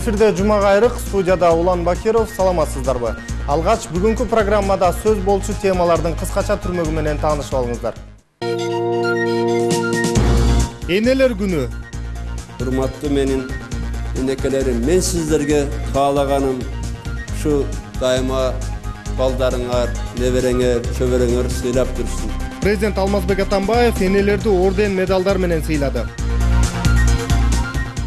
Эфирде Жума кайрык, студияда Улан Бакиров, саламатсыздарбы? Алгач бүгүнкү программада сөз болчу темалардын кыскача түрмөгү менен таанышып алыңыздар. Энелер күнү. Урматтуу менин энекелерим, мен сиздерге каалаганым ушу дайыма балдарыңар, небереңер, чөбөрөңөр сыйлап жүрсүн. Президент Алмазбек Атамбаев энелерди орден, медалдар менен сыйлады.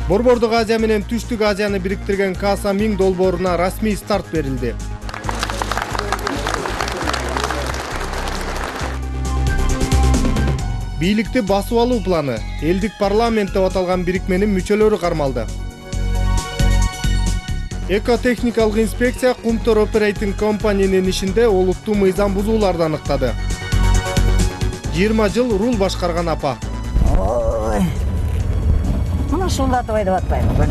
Борбордук Азия менен Түштүк Азияны бириктирген Каса Миң долбооруна расмий старт берилди. Бийликти басып алуу планы. Элдик парламент деп аталган бирикменин мүчөлөрү кармалды. Экотехникалык инспекция Кумтор Operating Company'нин ишинде олуттуу мыйзам бузууларды аныктады. 20 жыл рул башкарган апа. Мына шулдатып айтып атпайбы.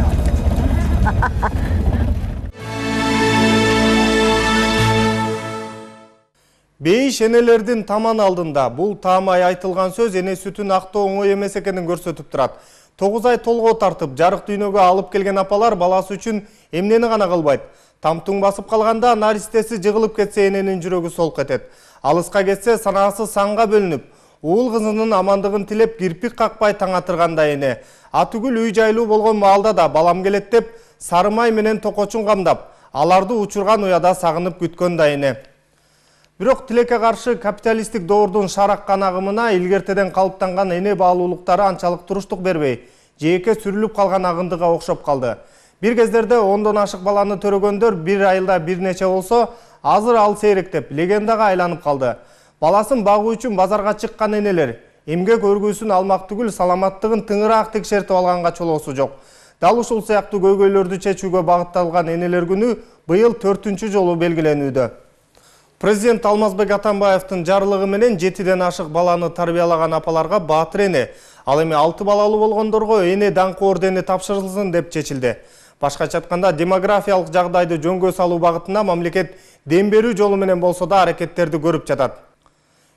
Бейиш энелердин таман алдында. Бул таамай айтылган сөз эне сүтүн актоо оңой эмес экенин көрсөтүп турат. 9 ай толгоо тартып, жарык дүйнөгө алып келген апалар баласы үчүн эмнени гана кылбайт. Тамтуң басып калганда наристеси жыгылып кетсе эненин жүрөгү солк этет. Алыска кетсе санаасы санга бөлүнүп, уул кызынын амандыгын тилеп кирпик какпай таң атырганда эне. Атүгүл үй жайлуу болгон маалда да балам келет деп сары май менен токочун камдап, аларды учурган уяда сагынып күткөн да эне. Бирок тилекке каршы капиталисттик доордун шараккан агымына илгертеден калыптанган эне баалуулуктары анчалык туруштук бербей, жээкке сүрүлүп калган агындыга окшоп калды. Бир кездерде 10дон ашык баланы төрөгөндөр бир айылда бир нече болсо, азыр ал сейректеп легендага айланып калды. Баласын багуу үчүн базарга чыккан энелер эмгек өргүүсүн алмак түгүл, саламаттыгын тыңыраак текшертип алганга чолоосу жок. Дал ушул сыяктуу көйгөйлөрдү чечүүгө багытталган энелер күнү быйыл 4-чү жолу белгиленүүдө. Президент Алмазбек Атамбаевдин жарлыгы менен 7ден ашык баланы тарбиялаган апаларга баатыр эне, ал эми 6 балалуу болгондорго эне даңкы ордени тапшырылсын деп чечилди. Башкача айтканда, демографиялык жагдайды жөнгө салуу багытында мамлекет дем берүү жолу менен болсо да аракеттерди көрүп жатат.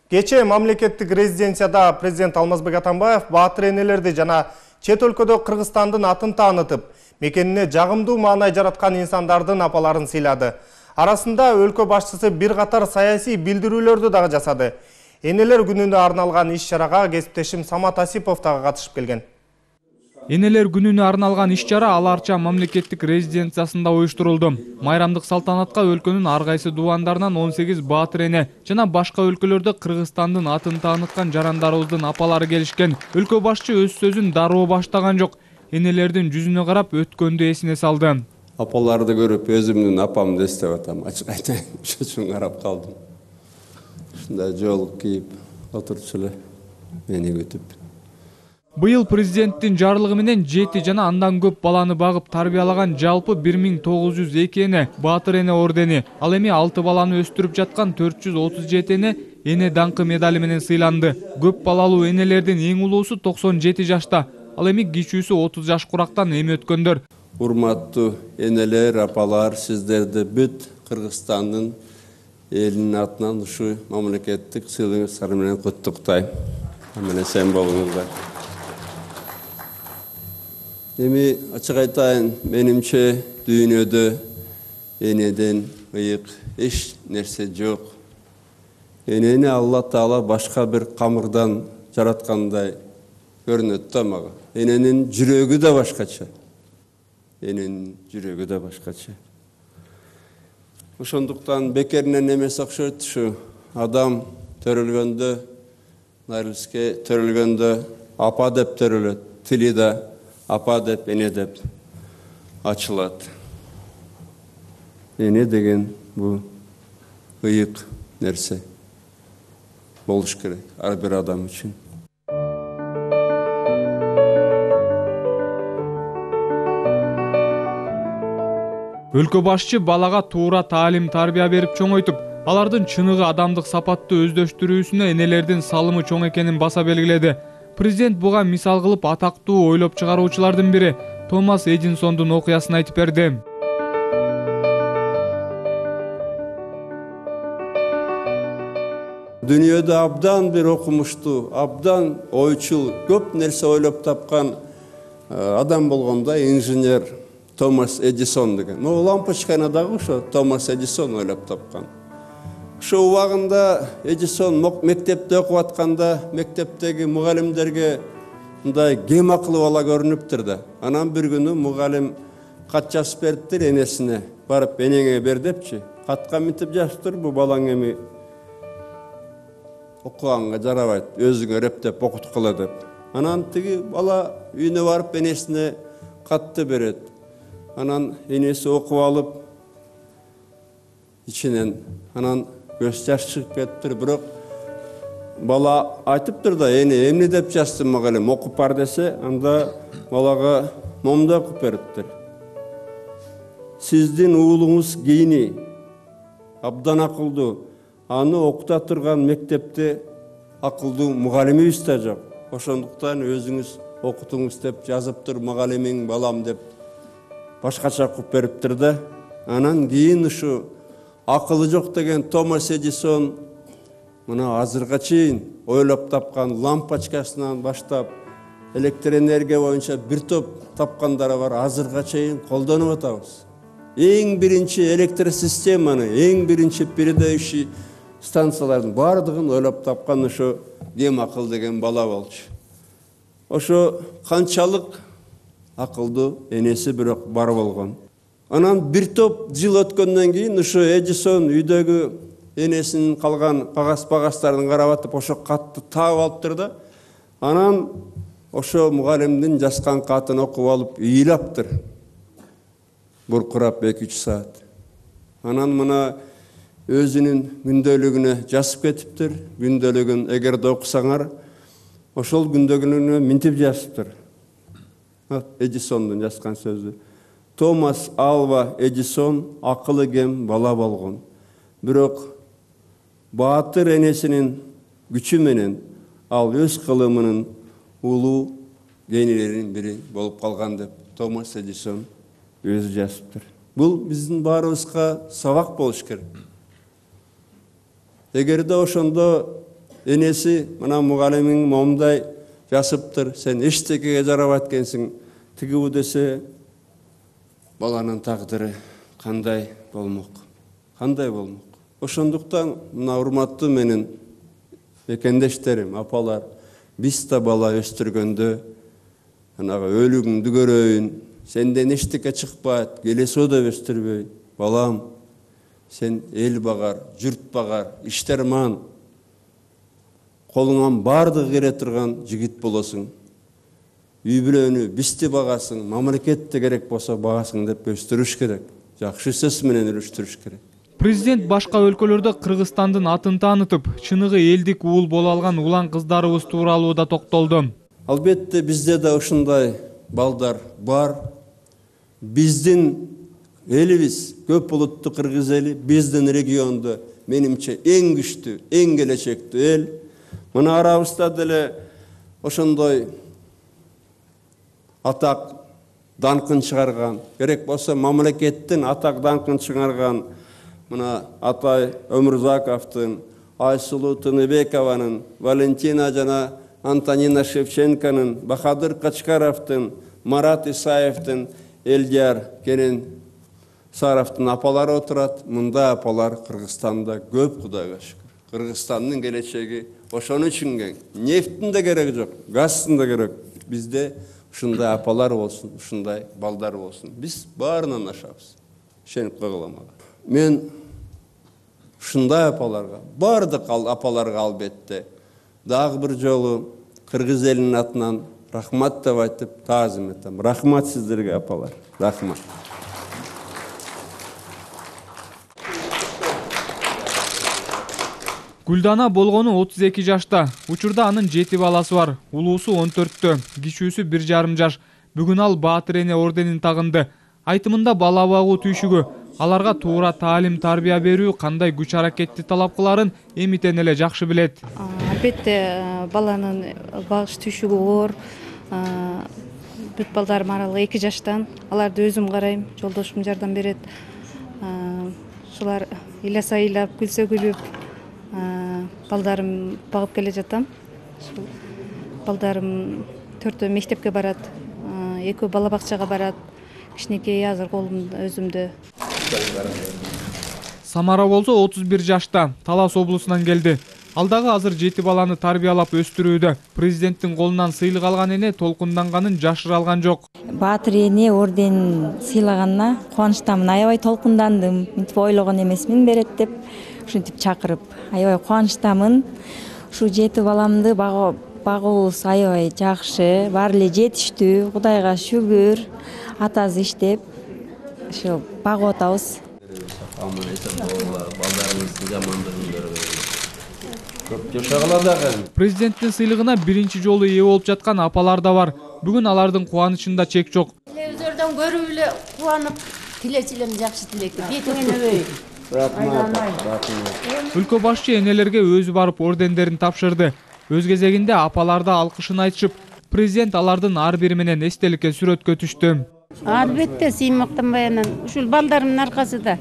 Кечээ мамлекеттик резиденцияда президент Алмазбек Атамбаев баатыр энелерди жана чет өлкөдө Кыргызстандын атын таанытып, мекенине жагымдуу маанай жараткан инсандардын апаларын сыйлады. Арасында өлкө башчысы бир катар саясий билдирүүлөрдү дагы жасады. Энелер күнүнө арналган иш-чарага кесиптешим Самат Асипов дагы катышып келген. Энелер күнүнө арналган иш-чара Ал Арча мамлекеттик резиденциясында уюштурулду. Майрамдык салтанатка өлкөнүн ар кайсы дубандарынан 18 баатыр эне жана башка өлкөлөрдө Кыргызстандын атын тааныткан жарандарыбыздын апалары келишкен. Өлкө башчы өз сөзүн дароо баштаган жок. Энелердин жүзүнө карап өткөндү эсине салды. Апаларды көрүп өзүмдүн апамды эстеп атам. Ачык айтайын, ошон үчүн карап калдым. Ушундай жолук кийип отурчу эле мени күтүп. Быйыл президенттин жарлыгы менен 7 жана андан көп баланы багып тарбиялаган жалпы 1902 эне баатыр эне ордени, ал эми 6 баланы өстүрүп жаткан 437 эне даңкы медали менен сыйланды. Көп балалуу энелердин эң улуусу 97 жашта, ал эми кичүүсү 30 жаш курактан эми өткөндөр. Урматтуу энелер, апалар, сиздерди бүт Кыргызстандын элинин атынан ушу мамлекеттик сыйлыгыңыздар менен куттуктайм. Аман эсен болуңуздар. Эми ачык айтайын, менимче дүйнөдө энеден ыйык эч нерсе жок. Энени Алла Таала башка бир камырдан жараткандай көрүнөт да мага. Эненин жүрөгү да башкача. Эненин жүрөгү да башкача. Ошондуктан бекеринен эмес окшойт, ушу адам төрөлгөндө, нарылске төрөлгөндө апа деп төрөлөт, тили да апа деп, эне деп ачылат. Эне деген бул ыйык нерсе болуш керек ар бир адам үчүн. Өлкө башчы балага туура таалим тарбия берип чоңойтуп, алардын чыныгы адамдык сапатты өздөштүрүүсүнө энелердин салымы чоң экенин баса белгиледи. Президент буга мисал кылып атактуу ойлоп чыгаруучулардын бири Томас Эдисондун окуясын айтып берди. Дүйнөдө абдан бир окумуштуу, абдан ойчул, көп нерсе ойлоп тапкан адам болгондо инженер Томас Эдисон деген. Могу лампочканы дагы ошо Томас Эдисон ойлоп тапкан. Ошо убагында Эдисон мектепте окуп атканда мектептеги мугалимдерге мындай кем акылы бала көрүнүптүр да. Анан бир күнү мугалим кат жазып бериптир энесине. Барып энеңе бер депчи. Катка мынтип жазыптыр, бу балаң эми окуганга жарабайт, өзүңө рептеп окуткула деп. Анан тиги бала үйүнө барып энесине катты берет. Анан энеси окуп алып ичинен анан көз жаш чыгып кетиптир, бирок бала айтыптыр да, эне эмне деп жазды мугалим, окуп бар десе, анда балага момундай окуп бериптир. Сиздин уулуңуз кийини абдан акылдуу, аны окута турган мектепте акылдуу мугалимибиз да жок. Ошондуктан өзүңүз окутуңуз деп жазыптыр мугалимиң балам деп башкача окуп бериптир да. Анан кийин ушу акылы жок деген Томас Эдисон мына азырга чейин ойлоп тапкан лампочкасынан баштап электр энергия боюнча бир топ тапкандары бар, азырга чейин колдонуп атабыз. Эң биринчи электр системаны, эң биринчи передающий станциялардын бардыгын ойлоп тапкан ошо кем акыл деген бала болчу. Ошо канчалык акылдуу энеси бирок бар болгон. Анан бир топ жыл өткөндөн кийин ошо Эдисон үйдөгү энесинин калган кагаз-багаздарын карап атып ошо катты таап алыптыр да. Анан ошо мугалимдин жазган катын окуп алып ыйлаптыр. Буркурап 2-3 саат. Анан мына өзүнүн күндөлүгүнө жазып кетиптир. Күндөлүгүн эгерде окусаңар, ошол күндөлүгүнө мынтип жазыптыр. Эдисондун жазган сөзү. Томас Алва Эдисон акылы кем бала болгон. Бирок баатыр энесинин күчү менен ал өз кылымынын улуу генийлеринин бири болуп калган деп Томас Эдисон өзү жазыптыр. Бул биздин баарыбызга сабак болуш керек. Эгерде ошондо энеси мына мугалимиң момундай жазыптыр, сен эчтекеге жарабайт экенсиң, тигибу десе, баланын тагдыры кандай болмок? Кандай болмок? Ошондуктан мына урматтуу менин экендештерим, апалар, биз да бала өстүргөндө анагы өлүгүңдү көрөйүн, сенден эчтеке чыкпайт, келесо да өстүрбөй, балам, сен эл багар, журт багар, иштерман, колуңан бардыгы келе турган жигит болосуң. Үй бүлөнү бизди багасың, мамлекетте керек болсо багасың деп өстүрүш керек. Жакшы сөз менен өрүштүрүш керек. Президент башка өлкөлөрдө Кыргызстандын атын таанытып, чыныгы элдик уул боло алган улан кыздарыбыз тууралуу да токтолду. Албетте бизде да ушундай балдар бар. Биздин элибиз көп улуттуу кыргыз эли, биздин региондо менимче эң күчтүү, эң келечектүү эл. Мына арабызда деле ошондой атак данкын чыгарган, керек болсо мамлекеттин атак данкын чыгарган мына Атай Өмүрзаковдун, Айсулуу Тыныбекованын, Валентина жана Антонина Шевченконун, Бахадыр Качкаровдун, Марат Исаевдин, Элдияр Керен Саровдун апалары отурат. Мындай апалар Кыргызстанда көп, Кудайга шүкүр. Кыргызстандын келечеги ошон үчүн кең. Нефттин да кереги жок, газдын да керек. Бизде ушундай апалар болсун, ушундай балдар болсун. Биз баарынан ашабыз. Ишенип койгула мага. Мен ушундай апаларга, бардык апаларга албетте дагы бир жолу кыргыз элинин атынан рахмат деп айтып таазим этем. Рахмат сиздерге, апалар. Рахмат. Гүлдана болгону 32 жашта. Учурда анын 7 баласы бар. Улуусу 14тө, кичүүсү 1,5 жаш. Бүгүн ал Баатыр эне орденин тагынды. Айтымында бала багуу түйшүгү, аларга туура таалим тарбия берүү кандай күч аракетти талап кыларын эмитен эле жакшы билет. Албетте баланын багыш түйшүгү оор. Бүт балдарым аралыгы 2 жаштан. Аларды өзүм карайм, жолдошум жардам берет. Шулар ыйласа ыйлап, күлсө күлүп, балдарым багып келе жатам. Балдарым 4төө мектепке барат, 2 бала бакчага барат. кичинекей азыр колумда өзүмдө. Самара болсо 31 жашта, Талас облусунан келди. Ал дагы азыр 7 баланы тарбиялап өстүрүүдө. Президенттин колунан сыйлык алган эне толкунданганын жашыра алган жок. Баатыр эне орден сыйлаганына кубанычтамын. Аябай толкундандым. Мынтип ойлогон эмесмин берет деп ушинтип чакырып. Аябай кубанычтамын. Ушу 7 баламды багуубуз аябай жакшы, баары эле жетиштүү. Кудайга шүгүр. Атасы иштеп, ошо багып атабыз. Президенттин сыйлыгына биринчи жолу ээ болуп жаткан апалар да бар. Бүгүн алардын кубанычында чек жок. Телевизордон көрүп эле кубанып, тилечилем жакшы тилекти. Бетиңен өбөй. Өлкө башчы энелерге өзү барып ордендерин тапшырды. Өз кезегинде апалар да алкышын айтышып, президент алардын ар бири менен эстеликке сүрөткө түштү. Албетте сыймактанбай анан ушул балдарымдын аркасында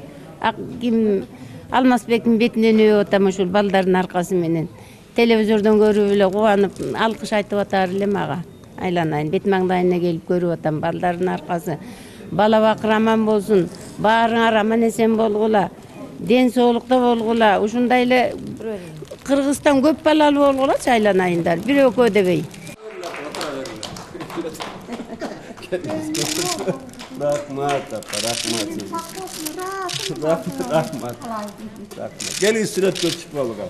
ким Алмазбектин бетинен өбүп атам ушул балдардын аркасы менен. Телевизордон көрүп эле кубанып, алкыш айтып атар элем ага. Айланайын, бет маңдайына келип көрүп атам балдардын аркасы. Бала бакыр аман болсун, баарыңар аман эсен болгула, ден соолукта болгула, ушундай эле Кыргызстан көп балалуу болгулачы айланайындар, бир экөө дебей. Рахмат, рахмат. Гели сүрөткө чыгып алган.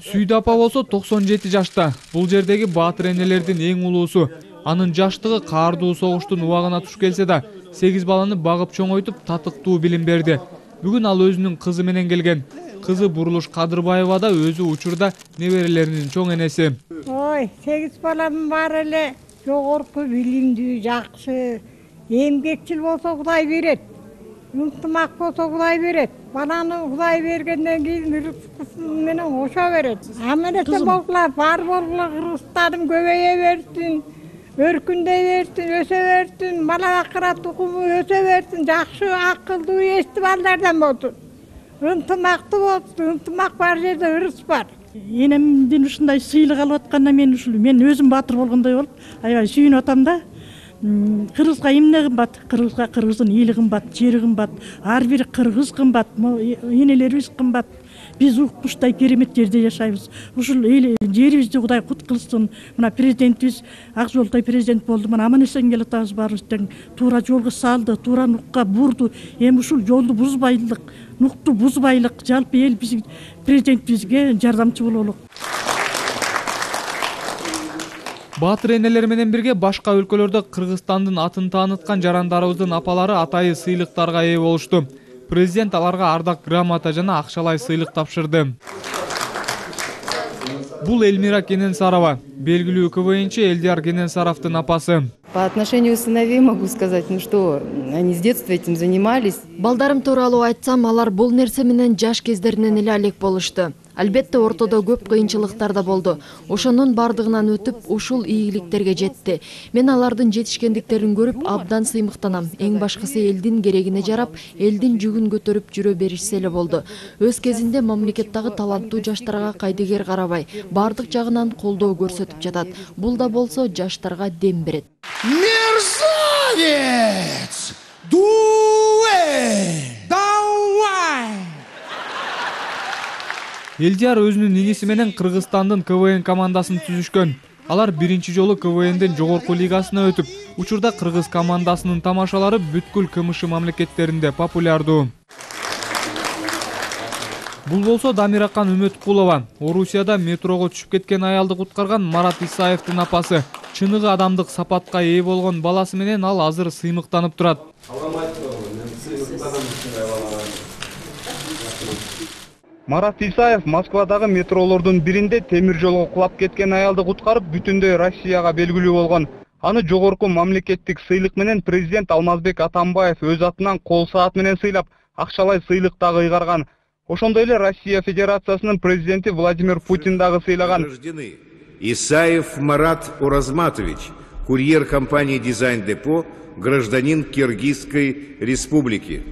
Сүйдү апа болсо 97 жашта. Бул жердеги баатыр энелердин эң улуусу. Анын жаштыгы каардуу согуштун убагына туш келсе да, 8 баланы багып чоңойтуп татыктуу билим берди. Бүгүн ал өзүнүн кызы менен келген. Кызы Бурулуш Кадырбаева да өзү учурда неберелеринин чоң энеси. Ой, 8 балам бар эле, жогорку билимдүү, жакшы, эмгекчил болсо Кудай берет. Ынтымак болсо Кудай берет. Баланы Кудай бергенден кийин рызкысы менен кошо берет. Аман эсен болгула, бар болгула, Кыргызстаным көбөйө берсин, өркүндөй берсин, өсө берсин, бала бакыра тукуму өсө берсин, жакшы, акылдуу, эсти балдардан болсун. Ынтымактуу болсун, ынтымак бар жерде ырыс бар. Энемден ушундай сыйлык алып атканда мен өзүм баатыр болгондой болуп, аябай сүйүнүп атам да. Кыргызга эмне кымбат? Кыргызга кыргыздын эли кымбат, жери кымбат, ар бир кыргыз кымбат, энелерибиз кымбат. Биз укмуштай керемет жерде жашайбыз. Ушул жерибизди Кудай кут кылсын. Мына президентибиз ак жолдой президент болду. Мына аман эсен келатабыз баарыбыз тең. Туура жолго салды, туура нукка бурду. Эми ушул жолду бузбайлык, нукту бузбайлык, жалпы эл биздин президентибизге жардамчы бололук. Баатыр энелер менен бирге башка өлкөлөрдө Кыргызстандын атын тааныткан жарандарыбыздын апалары атайы сыйлыктарга ээ болушту. Президент аларга ардак грамота жана акчалай сыйлык тапшырды. Бул Элмира Кененсарова, белгилүү КВНчи Элдияр Кененсаровдун апасы. По отношению к сыновей могу сказать, что они с детства этим занимались. Балдарым тууралуу айтсам, алар бул нерсе менен жаш кездеринен эле алек болушту. Албетте ортодо көп кыйынчылыктар да болду. Ошонун бардыгынан өтүп, ушул ийгиликтерге жетти. Мен алардын жетишкендиктерин көрүп абдан сыймыктанам. Эң башкысы элдин керегине жарап, элдин жүгүн көтөрүп жүрө беришсе эле болду. Өз кезинде мамлекеттагы таланттуу жаштарга кайдыгер карабай, бардык жагынан колдоо көрсөтүп жатат. Бул да болсо жаштарга дем берет. Мерзавец! Дуэ! Давай! Элдияр өзүнүн иниси менен Кыргызстандын КВН командасын түзүшкөн. Алар биринчи жолу КВНдин жогорку лигасына өтүп, учурда кыргыз командасынын тамашалары бүткүл КМШ мамлекеттеринде популярдуу. Бул болсо Дамиракан Үмөткулова, Орусияда метрого түшүп кеткен аялды куткарган Марат Исаевдин апасы. Чыныгы адамдык сапатка ээ болгон баласы менен ал азыр сыймыктанып турат. Марат Исаев Москвадагы метролордун биринде темир жолго кулап кеткен аялды куткарып, бүтүндөй Россияга белгилүү болгон. Аны жогорку мамлекеттик сыйлык менен президент Алмазбек Атамбаев өз атынан кол саат менен сыйлап, акчалай сыйлык дагы ыйгарган. Ошондой эле Россия Федерациясынын президенти Владимир Путин дагы сыйлаган. Исаев Марат Уразматович, курьер компании «Дизайн Депо», гражданин Киргизской республики.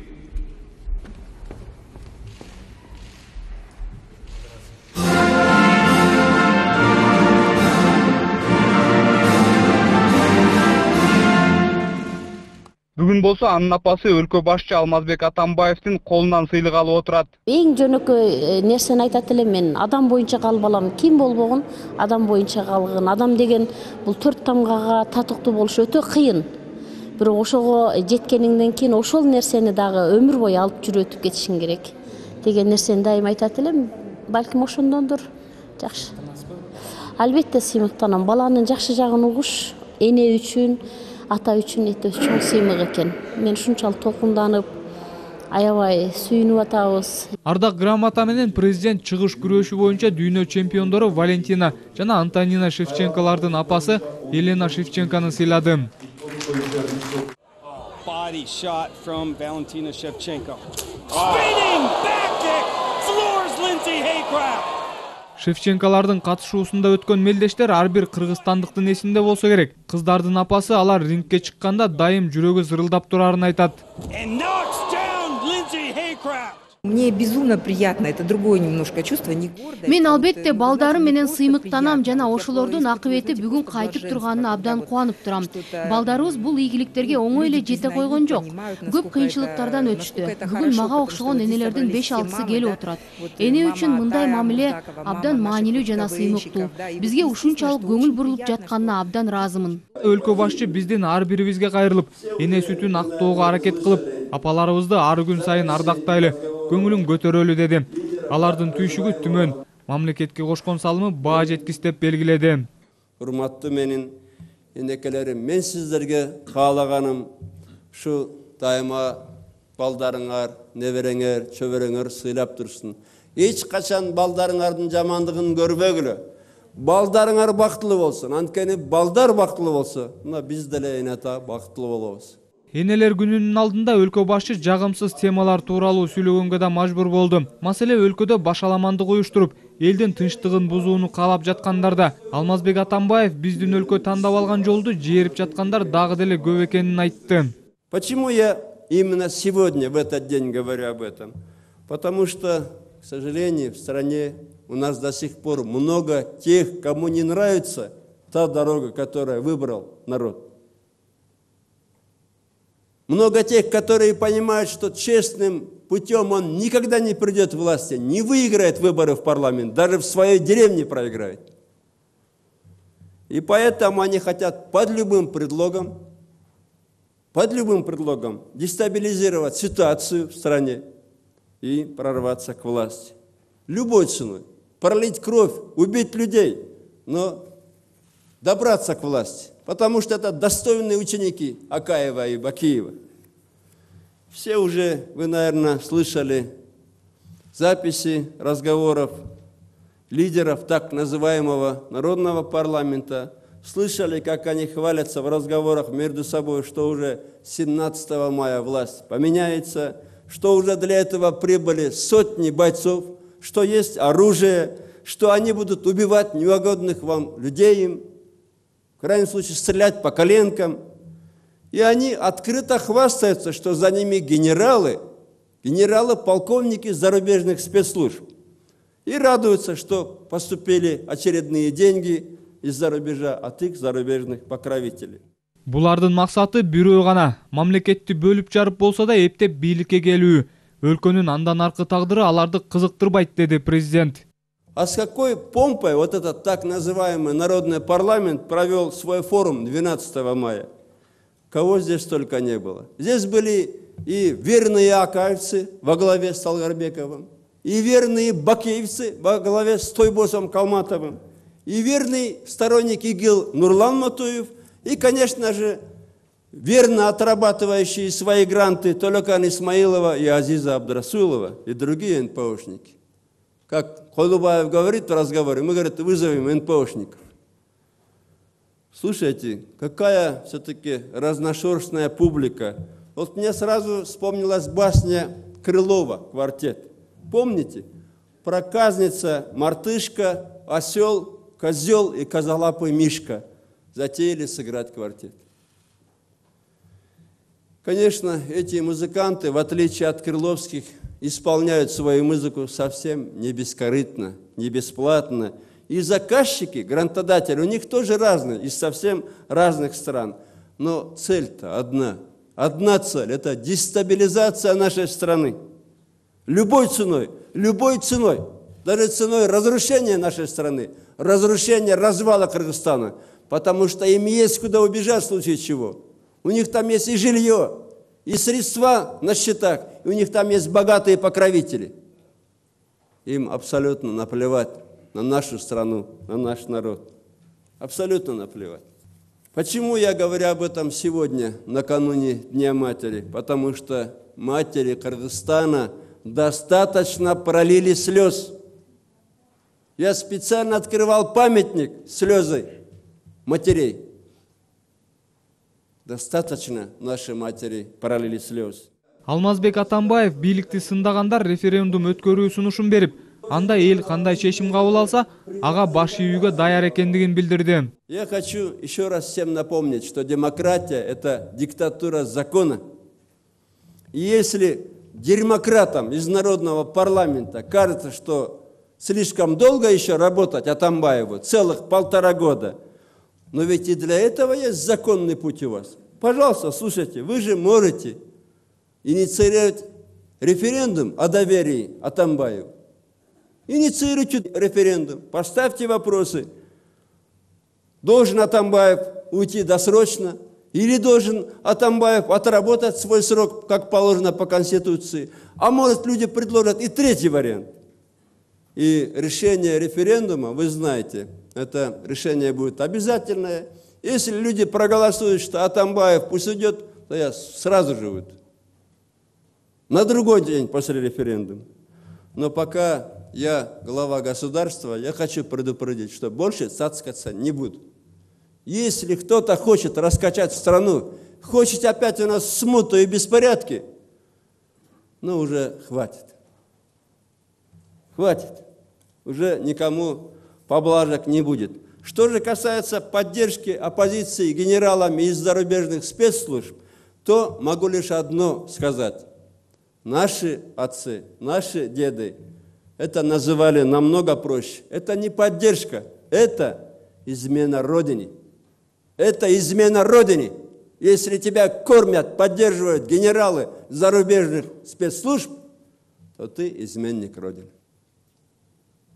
Бүгүн Бүгүн болсо анын апасы өлкө башчы Алмазбек Атамбаевдин колунан сыйлык алып отурат. Эң жөнөкөй нерсени айтат элем мен. Адам боюнча калып алам. Ким болбогун адам боюнча калгын. Адам деген бул 4 тамгага татыктуу болуш өтө кыйын. Бирок ошого жеткениңден кийин ошол нерсени дагы өмүр бою алып жүрүп өтүп кетишиң керек деген нерсени дайым айтат элем. Балким ошондондур. Жакшы. Албетте сыймыктанам. Баланын жакшы жагын угуш эне үчүн, ата үчүн өтө чоң сыймык экен. Мен ушунчалык толкунданып, аябай сүйүнүп атабыз. Ардак грамота менен президент чыгыш күрөшү боюнча дүйнө чемпиондору Валентина жана Антонина Шевченколардын апасы Елена Шевченконы сыйлады. Body shot from Valentina Shevchenko. Spinning back kick floors Lindsay Haycraft. Шевченколардын катышуусунда өткөн мелдештер ар бир кыргызстандыктын эсинде болсо керек. Кыздардын апасы алар рингке чыкканда дайым жүрөгү зырылдап турарын айтат. And knocks down Lindsay Haycraft. Мне безумно приятно, это другое немножко чувство, не гордое. Мен албетте балдарым менен сыймыктанам жана ошолордун акыбети бүгүн кайтып турганына абдан кубанып турам. Балдарыбыз бул ийгиликтерге оңой эле жете койгон жок. Көп кыйынчылыктардан өтүштү. Бүгүн мага окшогон энелердин 5-6сы келип отурат. Эне үчүн мындай мамиле абдан маанилүү жана сыймыктуу. Бизге ушунчалык көңүл бурулуп жатканына абдан ыраазымын. Өлкө башчы биздин ар бирибизге кайрылып, эне сүтүн актоого аракет кылып, апаларыбызды ар күн сайын ардактайлы, көңүлүн көтөрөлү деди. Алардын түйшүгү түмөн, мамлекетке кошкон салымы баа жеткис деп белгиледи. Урматтуу менин энекелерим, мен сиздерге каалаганым ушу дайыма балдарыңар, небереңер, чөбөрөңөр сыйлап турсын. Эч качан балдарыңардын жамандыгын көрбөгүлө. Балдарыңар бактылуу болсун. Анткени балдар бактылуу болсо, мына биз деле эне ата бактылуу болобуз. Энелер күнүнүн алдында өлкө башчы жагымсыз темалар тууралуу сүйлөгөнгө да мажбур болду. Маселе өлкөдө башаламандык уюштуруп, элдин тынчтыгын бузууну каалап жаткандарда. Алмазбек Атамбаев биздин өлкө тандап алган жолду жээрип жаткандар дагы деле көп экенин айтты. Почему я именно сегодня, в этот день, говорю об этом? Потому что, к сожалению, в стране у нас до сих пор много тех, кому не нравится та дорога, которую выбрал народ. Много тех, которые понимают, что честным путем он никогда не придет к власти, не выиграет выборы в парламент, даже в своей деревне проиграет. И поэтому они хотят под любым предлогом дестабилизировать ситуацию в стране и прорваться к власти. Любой ценой. Пролить кровь, убить людей, но добраться к власти. Потому что это достойные ученики Акаева и Бакиева. Все уже, вы, наверное, слышали записи разговоров лидеров так называемого народного парламента. Слышали, как они хвалятся в разговорах между собой, что уже 17 мая власть поменяется, что уже для этого прибыли сотни бойцов, что есть оружие, что они будут убивать неугодных вам людей, в крайнем случае стрелять по коленкам. И они открыто хвастаются, что за ними генералы, полковники зарубежных спецслужб. И радуются, что поступили очередные деньги из-за рубежа от их зарубежных покровителей. Булардын максаты бирөө гана, мамлекетти бөлүп жарып болсо да эптеп бийликке келүү. Өлкөнүн андан аркы тагдыры аларды кызыктырбайт, деди президент. А с какой помпой вот этот так называемый народный парламент провел свой форум 12 мая? Кого здесь только не было. Здесь были и верные акаевцы во главе с Талгарбековым, и верные бакеевцы во главе с Тойбосом Калматовым, и верный сторонник ИГИЛ Нурлан Матуев, и, конечно же, верно отрабатывающие свои гранты Толокан Исмаилова и Азиза Абдрасулова и другие НПОшники. Как Холубаев говорит в разговоре, мы, говорит, вызовем НПОшников. Слушайте, какая все-таки разношерстная публика. Вот мне сразу вспомнилась басня Крылова «Квартет». Помните? Проказница, мартышка, осел, козел и козолапый мишка затеяли сыграть квартет. Конечно, эти музыканты, в отличие от крыловских, исполняют свою музыку совсем не бескорыстно, не бесплатно. И заказчики, грантодатели, у них тоже разные, из совсем разных стран. Но цель-то одна. одна цель – это дестабилизация нашей страны. Любой ценой, даже ценой разрушения нашей страны, разрушения, развала Кыргызстана, потому что им есть куда убежать в случае чего. У них там есть и жилье, и средства на счетах, и у них там есть богатые покровители. Им абсолютно наплевать на нашу страну, на наш народ. Абсолютно наплевать. Почему я говорю об этом сегодня, накануне Дня Матери? Потому что матери Кыргызстана достаточно пролили слез. Я специально открывал памятник слезы матерей. Достаточно наши матери пролили слез. Алмазбек Атамбаев бийликти сындагандар референдум өткөрүү сунушун берип, анда эл кандай чечим кабыл алса, ага баш ийүүгө даяр экендигин билдирди. Я хочу еще раз всем напомнить, что демократия – это диктатура закона. И если демократам из народного парламента кажется, что слишком долго еще работать Атамбаеву, целых 1,5 года, но ведь и для этого есть законный путь у вас. Пожалуйста, слушайте, вы же можете инициировать референдум о доверии Атамбаеву. Инициируйте референдум, поставьте вопросы. Должен Атамбаев уйти досрочно или должен Атамбаев отработать свой срок, как положено по Конституции. А может, люди предложат и третий вариант. И решение референдума, вы знаете, это решение будет обязательное. Если люди проголосуют, что Атамбаев пусть уйдет, то я сразу же уйду. На другой день после референдума. Но пока я глава государства, я хочу предупредить, что больше цацкаться не буду. Если кто-то хочет раскачать страну, хочет опять у нас смуту и беспорядки, ну уже хватит. Хватит. Уже никому поблажек не будет. Что же касается поддержки оппозиции генералами из зарубежных спецслужб, то могу лишь одно сказать. Наши отцы, наши деды это называли намного проще. Это не поддержка, это измена Родине. Это измена Родине. Если тебя кормят, поддерживают генералы зарубежных спецслужб, то ты изменник Родины.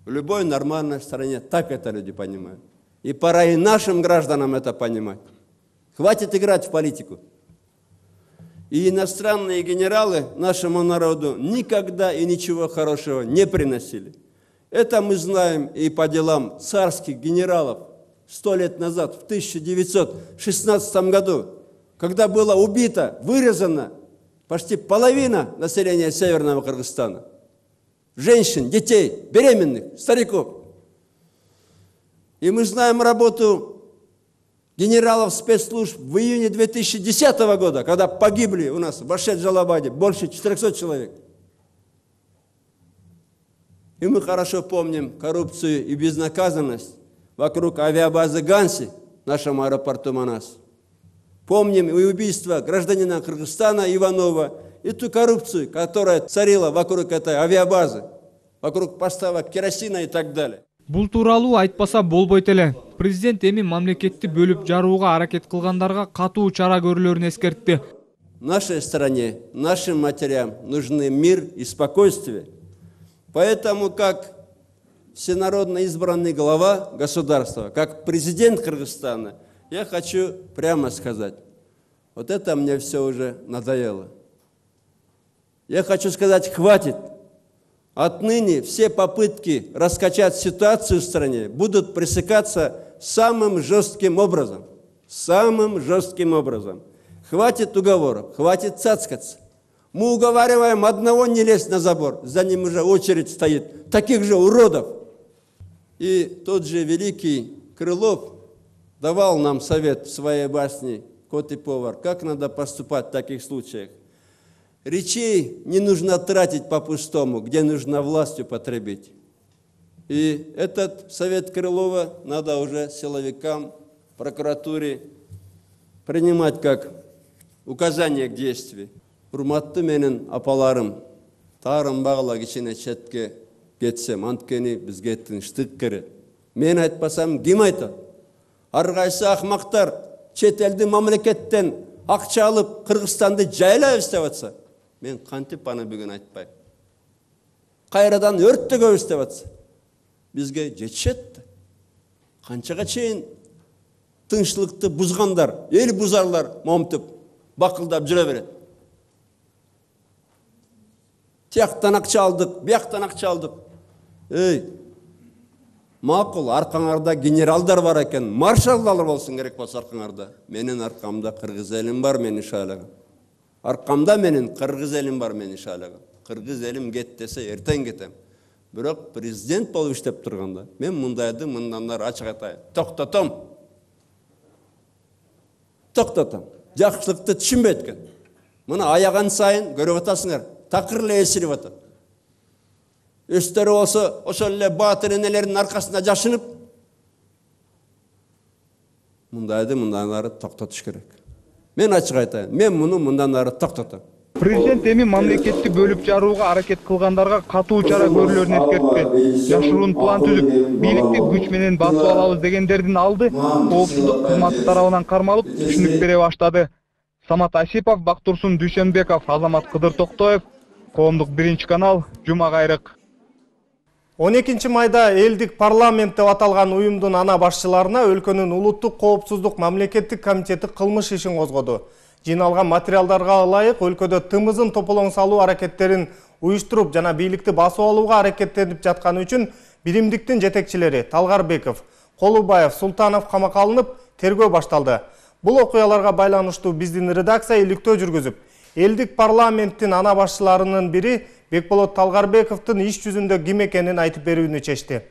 В любой нормальной стране так это люди понимают. И пора и нашим гражданам это понимать. Хватит играть в политику. И иностранные генералы нашему народу никогда и ничего хорошего не приносили. Это мы знаем и по делам царских генералов 100 лет назад, в 1916 году, когда было убито, вырезано почти половина населения Северного Кыргызстана. Женщин, детей, беременных, стариков. И мы знаем работу генералов спецслужб в июне 2010 года, когда погибли у нас в Башет-Жалабаде больше 400 человек. И мы хорошо помним коррупцию и безнаказанность вокруг авиабазы Ганси, нашему аэропорту Манас. Помним и убийство гражданина Кыргызстана Иванова, и ту коррупцию, которая царила вокруг этой авиабазы, вокруг поставок керосина и так далее. Бул тууралуу айтпаса болбойт эле. Президент эми мамлекетти бөлүп жарууга аракет кылгандарга катуу чара көрүлөрүн эскертти. Нашей стране, нашим матерям нужны мир и спокойствие. Поэтому, как всенародно избранный глава государства, как президент Кыргызстана, я хочу прямо сказать, вот это мне все уже надоело. Я хочу сказать, хватит. Отныне все попытки раскачать ситуацию в стране будут пресекаться самым жестким образом. Самым жестким образом. Хватит уговоров, хватит цацкаться. Мы уговариваем одного не лезть на забор, за ним уже очередь стоит, таких же уродов. И тот же великий Крылов давал нам совет в своей басне «Кот и повар», как надо поступать в таких случаях. Речей не нужно тратить по-пустому, где нужно властью потребить. И этот совет Крылова надо уже силовикам, прокуратуре принимать как указание к действию. Урматты менен апаларым, тарым багыла кичине четке кетсем, анткени бизге тынчтык керек. Мен айтпасам ким айтат? Ар кайсы акмактар чет элдин мамлекеттен акча алып Кыргызстанды жайлайбыз деп атса, мен кантип аны бүгүн айтпайм. Кайрадан өрттөгөбүз деп атса, бизге жетишет. Канчага чейин тынчтыкты бузгандар, эл бузарлар момтуп, бакылдап жүрө берет. Тияктан акча алдык, бияктан акча алдык. Макул, аркаңарда генералдар бар экен, маршалдар болсун керек болсо аркаңарда. Менин аркамда кыргыз элим бар, менин шайлаган. Аркамда менин кыргыз элим бар, менин шайлаган. Кыргыз элим кет десе, эртең кетем. Бирок президент болуп иштеп турганда, мен мындайды мындан ары ачык айтайын. Токтотом. Жакшылыкты түшүнбөйт экен. Муну аяган сайын көрүп атасыңар, такыр эле эсирип атат. Өстөрү болсо ошол эле баатыр энелердин аркасында жашынып, мындайды мындан ары токтотуш керек. Мен ачык айтайын, мен муну мындан ары токтотом. Президент эми мамлекетти бөлүп жарууга аракет кылгандарга катуу чара көрүлөрүн эскертти. Жашыруун план түзүп, бийликти күч менен басып алабыз дегендердин алды коопсуздук кызматы тарабынан кармалып, түшүнүк бере баштады. Самат Асипов, Бактурсун Дүйшөнбеков, Азамат Кыдыр Токтоев, Коомдук 1 канал, Жума кайрык. 12 майда элдик парламент деп аталган уюмдун ана башчыларына өлкөнүн улуттук коопсуздук мамлекеттик комитети кылмыш ишин козгоду. Жиналган материалдарга ылайык өлкөдө тымызын тополоң салуу аракеттерин уюштуруп жана бийликти басып алууга аракеттенип жатканы үчүн биримдиктин жетекчилери Талгарбеков, Колубаев, Султанов камакка алынып, тергөө башталды. Бул окуяларга байланыштуу биздин редакция иликтөө жүргүзүп, элдик парламенттин ана башчыларынын бири Бекболот Талгарбековдун иш жүзүндө ким экенин айтып берүүнү чечти.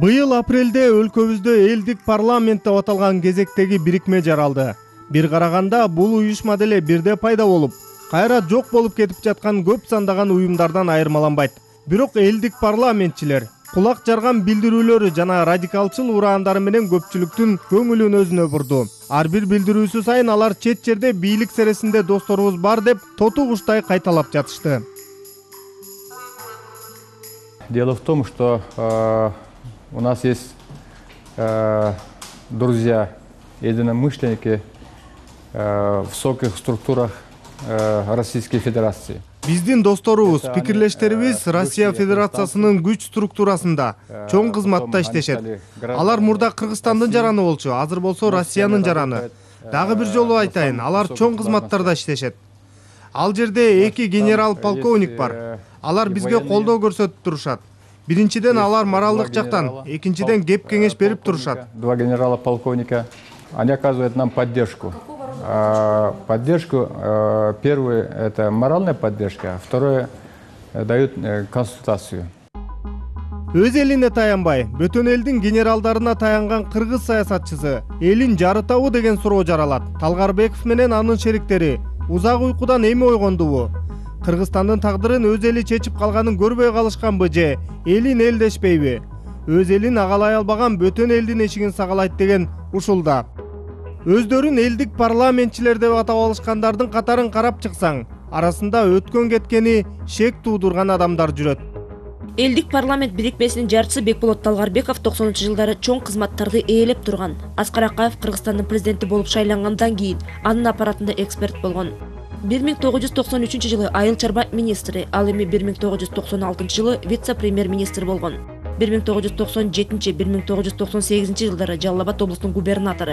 Быйыл апрелде өлкөбүздө элдик парламент деп аталган кезектеги бирикме жаралды. Бир караганда бул уюшма деле бирде пайда болуп, кайра жок болуп кетип жаткан көп сандаган уюмдардан айырмаланбайт. Бирок элдик парламентчилер кулак жарган билдирүүлөрү жана радикалчыл ураандары менен көпчүлүктүн көңүлүн өзүнө бурду. Ар бир билдирүүсү сайын алар чет жерде бийлик сересинде досторубуз бар деп тоту куштай кайталап жатышты. Дело в том, что у нас есть друзья, единомышленники в высоких структурах Российской Федерации. Биздин досторубуз, пикирлештерибиз Россия Федерациясынын күч структурасында чоң кызматта иштешет. Алар мурда Кыргызстандын жараны болчу, азыр болсо Россиянын жараны. Дагы бир жолу айтайын, алар чоң кызматтарда иштешет. Ал жерде 2 генерал-полковник бар. Алар бизге колдоо көрсөтүп турушат. Биринчиден алар моралдык жактан, экинчиден кеп кеңеш берип турушат. 2 генерала-полковника, они оказывают нам поддержку. Поддержку, первый это моральная поддержка, второе дают консультацию. Өз элине таянбай, бөтөн элдин генералдарына таянган кыргыз саясатчысы элин жарытабы деген суроо жаралат. Талгарбеков менен анын шериктери узак уйкудан эми ойгондубу? Кыргызстандын тагдырын өз эли чечип калганын көрбөй калышканбы же элин элдешпейби? Өз элин агалай албаган бөтөн элдин эшигин сагалайт деген ушулда. Өздөрүн элдик парламентчилер деп атап алышкандардын катарын карап чыксаң, арасында өткөн кеткени шек туудурган адамдар жүрөт. Элдик парламент бирикмесинин жарчысы Бекболот Талгарбеков 90-жылдары чоң кызматтарды ээлеп турган. Аскар Акаев Кыргызстандын президенти болуп шайлангандан кийин анын аппаратында эксперт болгон. 1993-жылы айыл чарба министри, ал эми 1996-жылы вице-премьер-министр болгон. 1997-1998 жылдары Жалал Абад облусунун губернатору.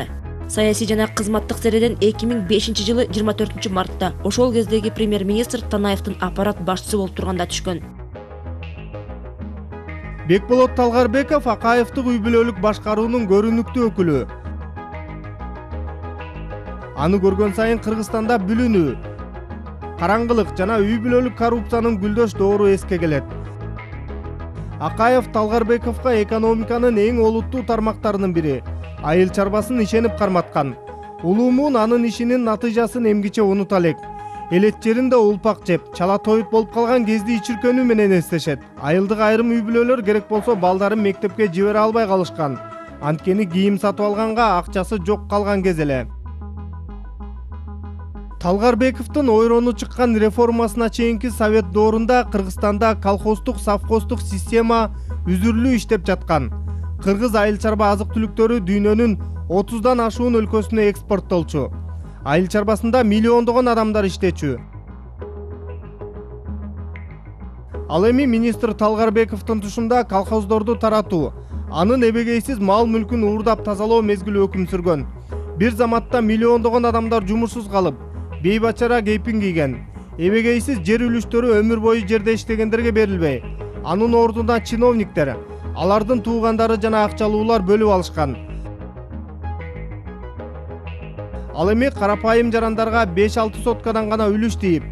Саясий жана кызматтык середен 2005-жылы 24-мартта ошол кездеги премьер-министр Танаевдин аппарат башчысы болуп турганда түшкөн. Бекболот Талгарбеков Акаевдик үй бүлөлүк башкаруунун көрүнүктүү өкүлү. Аны көргөн сайын Кыргызстанда бүлүнүү, караңгылык жана үй бүлөлүк коррупциянын гүлдөш доору эске келет. Акаев Талгарбековго экономиканын эң олуттуу тармактарынын бири, айыл чарбасын ишенип карматкан. Улуумун анын ишинин натыйжасын эмгиче унута элек. Элет жеринде улпак жеп, чала тоют болуп калган кезде ичиркөнүү менен эстешет. Айылдык айрым үй бүлөлөр керек болсо балдарын мектепке жибере албай калышкан. Анткени кийим сатып алганга акчасы жок калган кез эле. Талгарбековдун ойрону чыккан реформасына чейинки совет доорунда Кыргызстанда колхоздук, совхоздук система үзүрлүү иштеп жаткан. Кыргыз айыл чарба азык түлүктөрү дүйнөнүн 30дан ашуун өлкөсүнө экспорттолчу. Айыл чарбасында миллиондогон адамдар иштечү. Ал эми министр Талгарбековдун тушунда колхоздорду таратуу, анын эбегейсиз мал мүлкүн уурдап тазалоо мезгили өкүм сүргөн. Бир заматта миллиондогон адамдар жумушсуз калып, бейбачара кейпин кийген. Эбегейсиз жер үлүштөрү өмүр бою жерде иштегендерге берилбей, анын ордуна чиновниктер, алардын туугандары жана акчалуулар бөлүп алышкан. Ал эми карапайым жарандарга 5-6 соткадан гана үлүш тийип,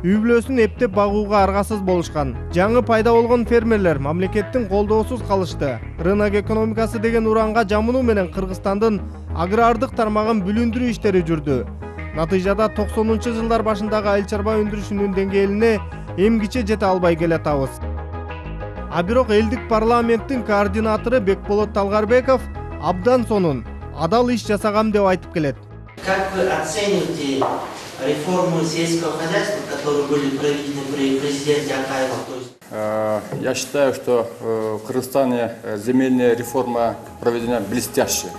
үй бүлөсүн эптеп багууга аргасыз болушкан. Жаңы пайда болгон фермерлер мамлекеттин колдоосуз калышты. Рынок экономикасы деген уранга жамынуу менен Кыргызстандын агрардык тармагын бүлүндүрүү иштери жүрдү. Натыйжада 90-жылдар башындагы айыл чарба өндүрүшүнүн деңгээлине эмгиче жете албай келатабыз. А бирок элдик парламенттин координатору Бекболот Талгарбеков абдан сонун, адал иш жасагам деп айтып келет. Как вы оцените реформы сельского хозяйства, которые были проведены при президенте Акаеве? Я считаю, что в Кыргызстане земельная реформа проведена блестяще.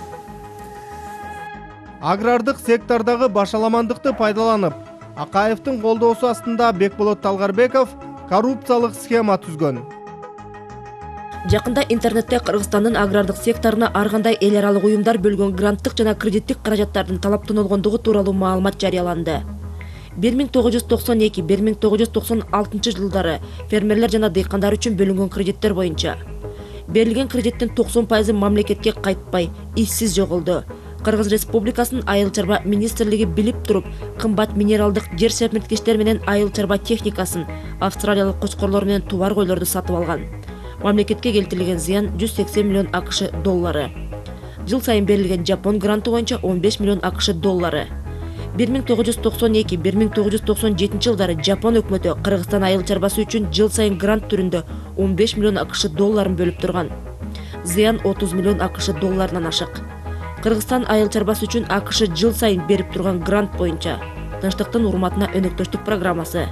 Агрардык сектордагы башаламандыкты пайдаланып, Акаевдин колдоосу астында Бекболот Талгарбеков коррупциялык схема түзгөн. Жакында интернетте Кыргызстандын агрардык секторуна ар кандай эл аралык уюмдар бөлгөн гранттык жана кредиттик каражаттардын талаптонолгондугу тууралуу маалымат жарыяланды. 1992-1996 жылдары фермерлер жана дыйкандар үчүн бөлүнгөн кредиттер боюнча берилген кредиттин 90% мамлекетке кайтпай, иссиз жоголду. Кыргыз Республикасынын айыл чарба министрлиги билип туруп, кымбат минералдык жер сермерткичтер менен айыл чарба техникасын, австралиялык кочкорлор менен тубар койлорду сатып алган. Мамлекетке келтирилген зыян 180 миллион АКШ доллары. Жыл сайын берилген Жапон гранты боюнча 15 миллион АКШ доллары. 1992-1997 жылдары Жапон өкмөтү Кыргызстан айыл чарбасы үчүн жыл сайын грант түрүндө 15 миллион АКШ долларын бөлүп турган. Зыян 30 миллион АКШ долларынан ашык. Кыргызстан айыл чарбасы үчүн АКШ жыл сайын берип турган грант боюнча Тынчтыктын урматына өнөктөштүк программасы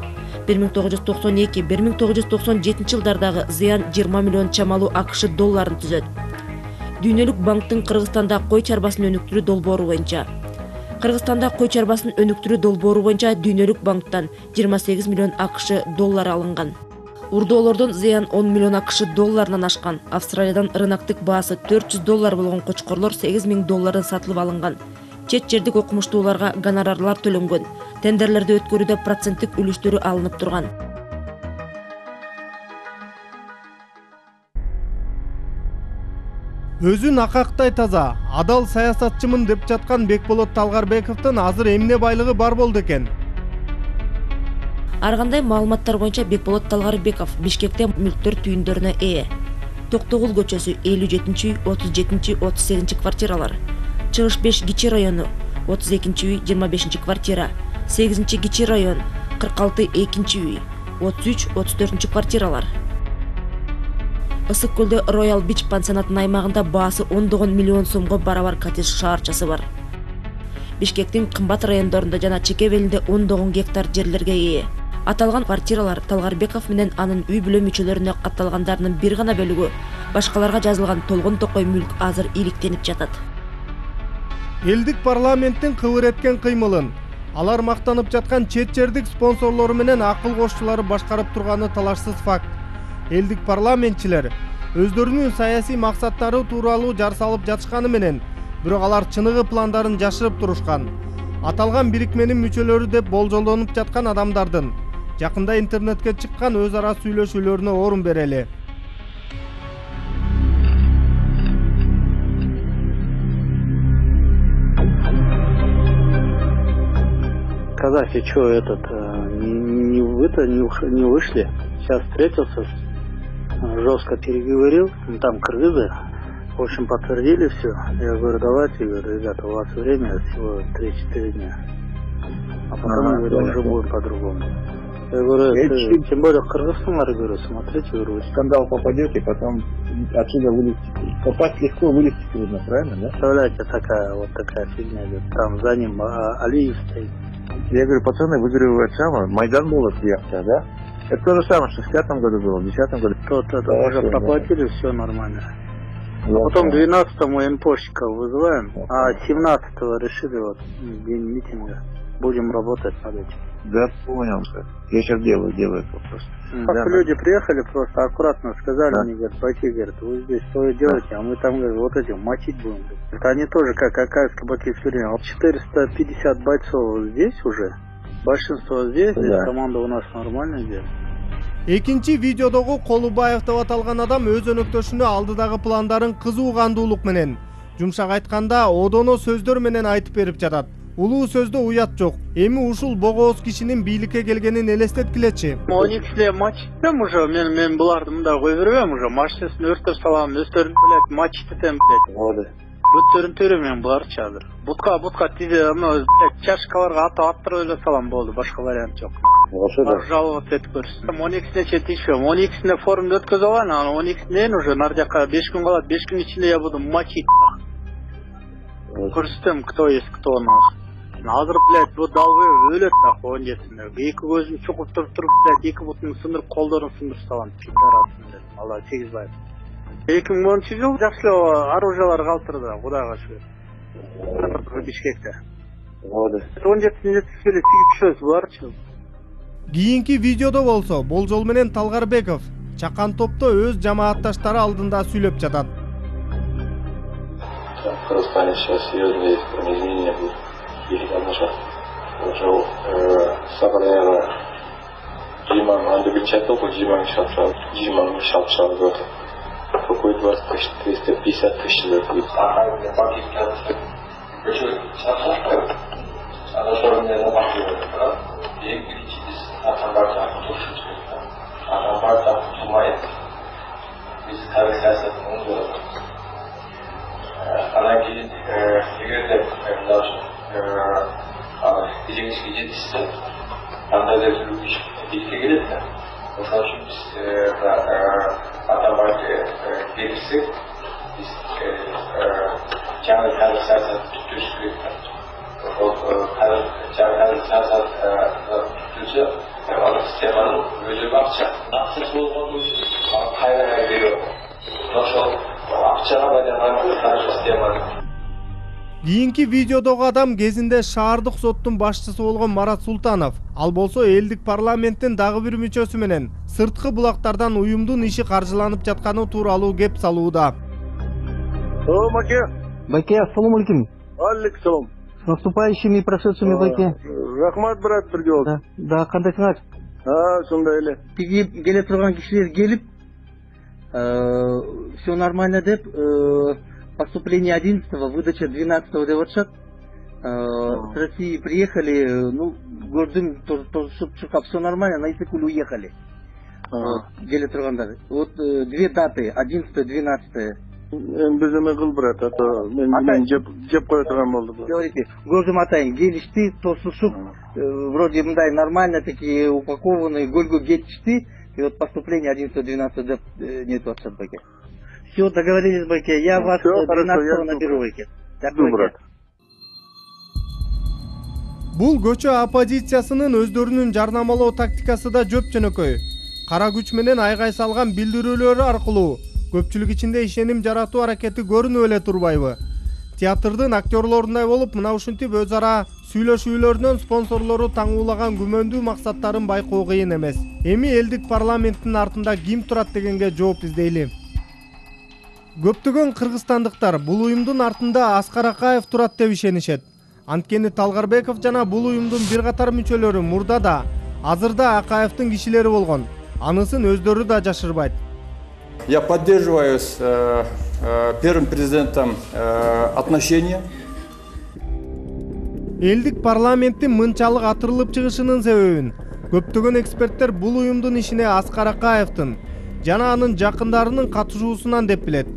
1992-1997 жылдардагы зыян 20 миллион чамалуу АКШ долларын түзөт. Дүйнөлүк банктын Кыргызстанда кой чарбасын өнүктүрүү долбоору боюнча Кыргызстанда кой чарбасын өнүктүрүү долбоору боюнча Дүйнөлүк банктан 28 миллион АКШ доллары алынган. Урдоолордон зыян 10 миллион АКШ долларынан ашкан. Австралиядан рыноктук баасы 400 доллар болгон кочкорлор 8 миң доллардан сатылып алынган. Чет жердик окумуштууларга гонорарлар төлөнгөн. Тендерлерди өткөрүүдө проценттик үлүштөрү алынып турган. Өзүн акактай таза, адал саясатчымын деп жаткан Бекболот Талгарбековдун азыр эмне байлыгы бар болду экен? Ар кандай маалыматтар боюнча Бекболот Талгарбеков Бишкекте мүлктөр түйүндөрүнө ээ. Токтогул көчөсү 57-үй, 37-үй, 38-чи квартиралар. Чыгыш 5 Кичи району 32-үй, 25-чи квартира. 8-чи Кичи район 46-2-чи үй, 33-34-чи квартиралар. Ысык көлдө Royal Beach пансионатынын аймагында баасы 10 миллион сомго барабар коттедж шаарчасы бар. Бишкектин кымбат райондорунда жана чеке белинде 10 гектар жерлерге ээ. Аталган квартиралар Талгарбеков менен анын үй бүлө мүчөлөрүнө катталгандарынын бир гана бөлүгү, башкаларга жазылган толгон токой мүлк азыр иликтенип жатат. Элдик парламенттин кыбыр эткен кыймылын, алар мактанып жаткан чет жердик спонсорлору менен акыл кошчулары башкарып турганы талашсыз факт. Элдик парламентчилер өздөрүнүн саясий максаттары тууралуу жар салып жатышканы менен, бирок алар чыныгы пландарын жашырып турушкан. Аталган бирикменин мүчөлөрү деп болжолдонуп жаткан адамдардын жакында интернетке чыккан өз ара сүйлөшүүлөрүнө орун берели. Каддафи, что не вышли. Сейчас встретился, жестко переговорил, там кыргызы, в общем, подтвердили все. Я говорю, давайте, говорю, ребята, у вас время всего 3-4 дня. А потом, говорю, уже будет по-другому. Я говорю, тем более Кыргызстан, говорю, смотрите, говорю, в скандал попадете, потом отсюда вылезете. Попасть легко, вылезти трудно, правильно, да? Представляете, такая фигня идет. Там за ним Алиев стоит. Я говорю, пацаны, вы, говорю, Майдан был от Яхта, да? Это то же самое, что в 5-м году было, в 10-м году. То уже проплатили, все нормально. Потом 12-го МПОшника вызываем, а 17-го решили вот день митинга. Будем работать над этим. Да, понял. Я сейчас делаю вопрос. Как люди приехали, просто аккуратно сказали, они говорят, пойти, говорят, вы здесь что делаете, а мы там, говорят, вот этим мочить будем. Это они тоже, как Акаевские баки все время. 450 бойцов здесь уже, большинство здесь, команда у нас нормальная здесь. Экинчи видеодогу Колубаев деп аталган адам өз өнөктөшүнө алдыдагы пландарын кызуу кандуулук менен, жумшак айтканда одоно сөздөр менен айтып берип жатат. Улуу сөздө уят жок. Эми ушул богооз кишинин бийликке келгенин элестеткилечи. 12-ле матчтем уже, мен буларды мында кой бербейм уже, матчтеsin өртөп салам, өздөрүн билет, матчтетем билет. Бүттөрүн төрөмөйм буларчы азыр. Бутка тизе, чашкаларга аттырып эле салам болду, башка вариант жок. Жаловаться этип көрсүн. 12-сине четишпем, 12-сине форумду өткөзүп алайын, анан 12-синен уже нардяка 5 күн калат, 5 күн ичинде я буду мочить. Көрсөтөм, кто есть кто у нас. Азыр, блядь, бу далбай өлөт так оңдесинде. Эки көзүн чукуп туруп, блядь, эки бутун сындырып, колдорун сындырып салам. Алла тийгизбайт. 2010-жылы жакшы оружиялар калтырды, Кудайга шүгүр. Бишкекте. 17-сине эле тигип түшөбүз буларчы. Кийинки видеодо болсо, болжол менен Талгарбеков чакан топто өз жамаатташтары алдында сүйлөп жатат. В Кыргызстане сейчас серьезные изменения будут. Или там уже собрание Джиман, он добычает только Джиман шапшал год. Какой 20 тысяч, 350 тысяч лет будет. Почему? Она что мне напахивает, да? И кричитесь, атамбарта тушит. Атамбарта тумает. Biz tarih siyasetini uyguladık. Ana keyin эгерде кезеңишке жетишсе андай да бийликке келет да. Ошон үчүн биз атамбарды берсек, биз жаңы тарих саясат түзүш керек. Ошол жаңы тарих саясат түзүлсө, анын системанын өзү акчасы болгону үчүн кайра берип, ошол акчага байланган тарих системаны. Кийинки видеодогу адам кезинде шаардык соттун башчысы болгон Марат Султанов, ал болсо элдик парламенттин дагы бир мүчөсү менен сырткы булактардан уюмдун иши каржыланып жатканы тууралуу кеп салууда. Маке. Байке, ассаламу алейкум. Алейкум салам. С наступающими прошедшими, Байке. Рахмат, брат, бирге болсун. Да, кандайсыңар? Сондай эле. Тиги келе турган кишилер келип, все нормально деп, поступление 11-го, выдача 12-го деп атышат. С России приехали, ну, көрдүм, чуркап, все нормально, на Исыкуль уехали. Келе тургандар. Вот две даты, 11-го, 12-го. Биз эме кыл, брат, а то мен жеп кое турган болду. Говорите, көрдүм атайын, келишти, тосушуп, вроде мындай нормально такие упакованные, гөлгө кетишти. И вот поступление 11-го, 12-го деп нетип атышат, Байке. Все, договорились, Байке. Я вас 12-го наберу, Байке. Брат. Бул көчө оппозициясынын өздөрүнүн жарнамалоо тактикасы да жөп жөнөкөй. Кара күч менен айгай салган билдирүүлөрү аркылуу көпчүлүк ичинде ишеним жаратуу аракети көрүнүп эле турбайбы? Театрдын актерлорундай болуп, мына ушинтип өз ара сүйлөшүүлөрүнөн спонсорлору таңуулаган күмөндүү максаттарын байкоо кыйын эмес. Эми элдик парламенттин артында ким турат дегенге жооп издейли. Көптөгөн кыргызстандыктар бул уюмдун артында Аскар Акаев турат деп ишенишет. Анткени Талгарбеков жана бул уюмдун бир катар мүчөлөрү мурда да, азыр да Акаевдин кишилери болгон. Анысын өздөрү да жашырбайт. Я поддерживаю с первым президентом отношения. Элдик парламенттин мынчалык атырылып чыгышынын себебин көптөгөн эксперттер бул уюмдун ишине Аскар Акаевдин жана анын жакындарынын катышуусунан деп билет.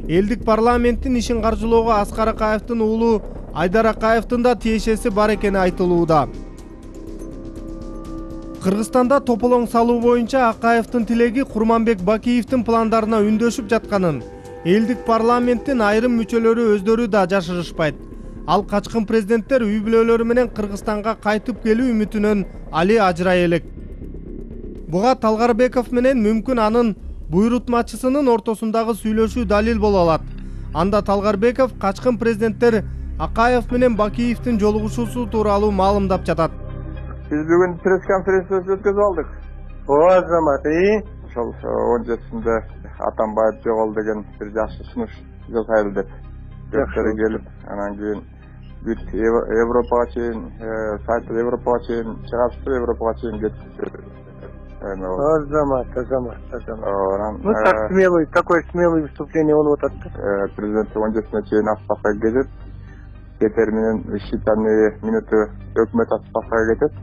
Элдик парламенттин ишин каржылоого Аскар Акаевдин уулу Айдар Акаевдин да тиешеси бар экени айтылууда. Кыргызстанда тополоң салуу боюнча Акаевдин тилеги Курманбек Бакиевдин пландарына үндөшүп жатканын элдик парламенттин айрым мүчөлөрү өздөрү да жашырышпайт. Ал качкын президенттер үй бүлөлөрү менен Кыргызстанга кайтып келүү үмүтүнөн али ажырай элек. Буга Талгарбеков менен мүмкүн анын буйрутмачысынын ортосундагы сүйлөшүү далил боло алат. Анда Талгарбеков качкын президенттер Акаев менен Бакиевдин жолугушуусу тууралуу маалымдап жатат. Биз бүгүн пресс-конференция өткөзүп алдык. Ооба, Азамат, ошол 17-синде Атамбаев жогол деген бир жакшы сунуш жасайлы деп. Жактары келип, анан кийин бүт Европага чейин, сайты Европага чейин чыгасып, Европага чейин кетип. Азамат. Ну так смелый, такое смелое выступление болуп атат. Президент 17-сине чейин отставкага кетет. Кетер менен считанные минуты өкмөт отставкага кетет.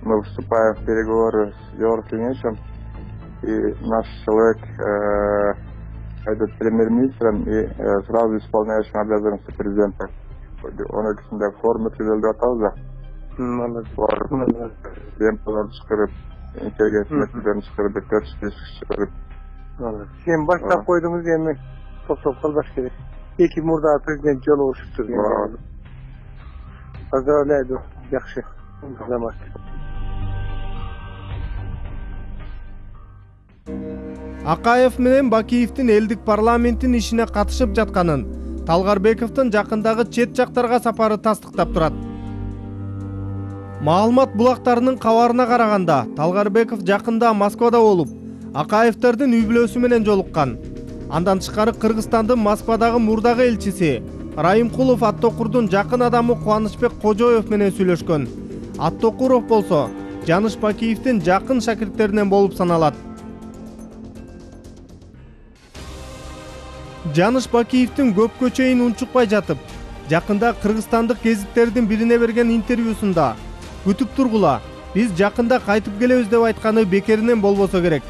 Мы вступаем в переговоры с Еврокомиссией, и наш человек, этот премьер-министром и сразу исполняющим обязанности президента. Он эксінде форма түзөлдүп атабыз да. Демпаларды чыгарып, интеллигенттерин чыгарып, 4-5 чыгарып. Сен баштап койдуңуз, эми токтоп калбаш керек. Эки мурда президент жолугушуптур. Поздравляю, жакшы. Замат. Акаев менен Бакиевдин элдик парламенттин ишине катышып жатканын Талгарбековдун жакындагы чет жактарга сапары тастыктап турат. Маалымат булактарынын кабарына караганда, Талгарбеков жакында Москвада болуп, Акаевдердин үй бүлөсү менен жолуккан. Андан тышкары Кыргызстандын Москвадагы мурдагы элчиси Райымкулов Аттокурдун жакын адамы Кубанычбек Кожоев менен сүйлөшкөн. Аттокуров болсо Жаныш Бакиевдин жакын шакирттеринен болуп саналат. Жаныш Бакиевдин көпкө чейин унчукпай жатып, жакында кыргызстандык гезиттердин бирине берген интервьюсунда күтүп тургула, биз жакында кайтып келебиз деп айтканы бекеринен болбосо керек.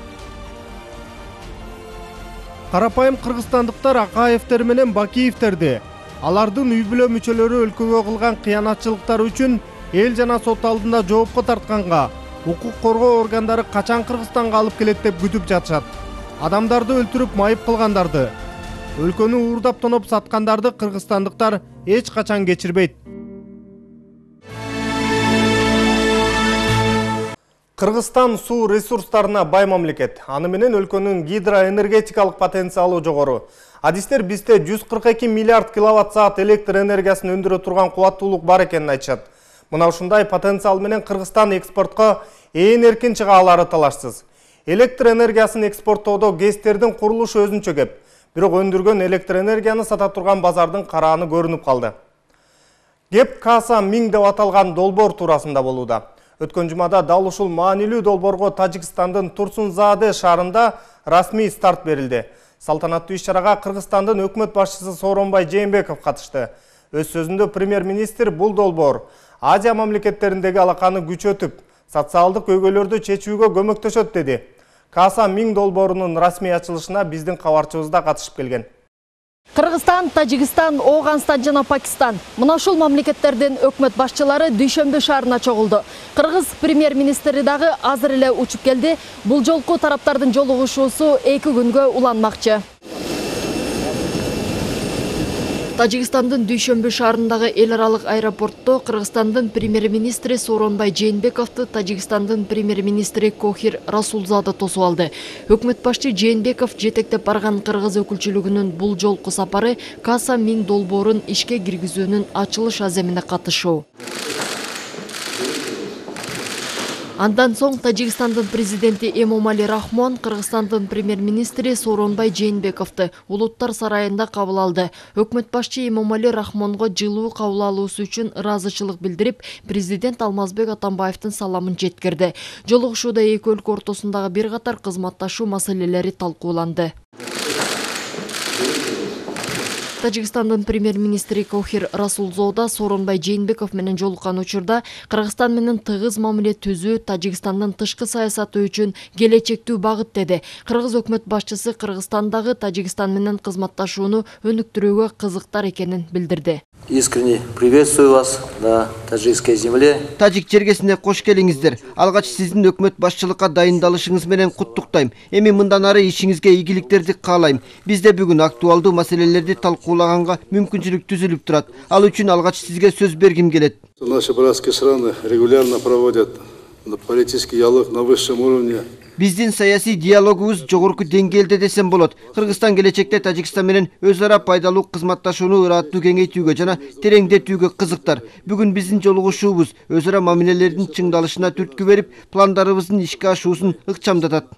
Карапайым кыргызстандыктар Акаевдер менен Бакиевдерди алардын үй бүлө мүчөлөрү өлкөгө кылган кыянатчылыктары үчүн эл жана сот алдында жоопко тартканга укук коргоо органдары качан Кыргызстанга алып келет деп күтүп жатышат. Адамдарды өлтүрүп майып кылгандарды, өлкөнү уурдап тоноп саткандарды кыргызстандыктар эч качан кечирбейт. Кыргызстан суу ресурстарына бай мамлекет. Аны менен өлкөнүн гидроэнергетикалык потенциалы жогору. Адистер бизде 142 миллиард киловатт-саат электр энергиясын өндүрө турган кубаттуулук бар экенин айтышат. Мына ушундай потенциал менен Кыргызстан экспортко ээн эркин чыга алары талашсыз. Электр энергиясын экспорттоодо ГЭСтердин курулушу өзүнчө кеп. Бирок өндүргөн электр энергияны сата турган базардын карааны көрүнүп калды. Кеп Каса 1000 деп аталган долбоор туурасында болууда. Өткөн жумада дал ушул маанилүү долбоорго Тажикстандын Турсунзаде шаарында расмий старт берилди. Салтанаттуу иш-чарага Кыргызстандын өкмөт башчысы Сооронбай Жээнбеков катышты. Өз сөзүндө премьер-министр бул долбоор Азия мамлекеттериндеги алаканы күчөтүп, социалдык көйгөйлөрдү чечүүгө көмөктөшөт деди. Каса 1000 долбоорунун расмий ачылышына биздин кабарчыбыз да катышып келген. Кыргызстан, Тажикстан, Ооганстан жана Пакистан. Мына ушул мамлекеттердин өкмөт башчылары Дүйшөмбү шаарына чогулду. Кыргыз премьер-министри дагы азыр эле учуп келди. Бул жолку тараптардын жолугушуусу 2 күнгө уланмакчы. Тажикстандын Дүйшөмбү шаарындагы эл аралык аэропортто Кыргызстандын премьер-министри Сооронбай Жээнбековду Тажикстандын премьер-министри Кохир Расулзада тосуп алды. Өкмөт башчы Жээнбеков жетектеп барган Кыргыз өкүлчүлүгүнүн бул жолку сапары Каса 1000 долбоорун ишке киргизүүнүн ачылыш аземине катышуу. Андан соң Тажикстандын президенти Эмомали Рахмон Кыргызстандын премьер-министри Сооронбай Жээнбековду Улуттар сарайында кабыл алды. Өкмөт башчы Эмомали Рахмонго жылуу кабыл алуусу үчүн ыраазычылык билдирип, президент Алмазбек Атамбаевдин саламын жеткирди. Жолугушууда эки өлкө ортосундагы бир катар кызматташуу маселелери талкууланды. Тажикстандын премьер-министри Кохир Расулзода Сооронбай Жээнбеков менен жолуккан учурда Кыргызстан менен тыгыз мамиле түзүү Тажикстандын тышкы саясаты үчүн келечектүү багыт деди. Кыргыз өкмөт башчысы Кыргызстандагы Тажикстан менен кызматташууну өнүктүрүүгө кызыктар экенин билдирди. Искренне приветствую вас на таджикской земле. Тажик жергесине кош келиңиздер. Алгач сиздин өкмөт башчылыкка дайындалышыңыз менен куттуктайм. Эми мындан ары ишиңизге ийгиликтерди каалайм. Бизде бүгүн актуалдуу маселелерди талкуулаганга мүмкүнчүлүк түзүлүп турат. Ал үчүн алгач сизге сөз бергим келет. Наши братские страны регулярно проводят политический диалог на высшем уровне Биздин саясий диалогубуз жогорку деңгээлде десем болот. Кыргызстан келечекте Тажикстан менен өз ара пайдалуу кызматташууну ыраттуу кеңейтүүгө жана тереңдетүүгө кызыктар. Бүгүн биздин жолугушуубуз өз ара мамилелердин чыңдалышына түрткү берип, пландарыбыздын ишке ашуусун ыкчамдатат.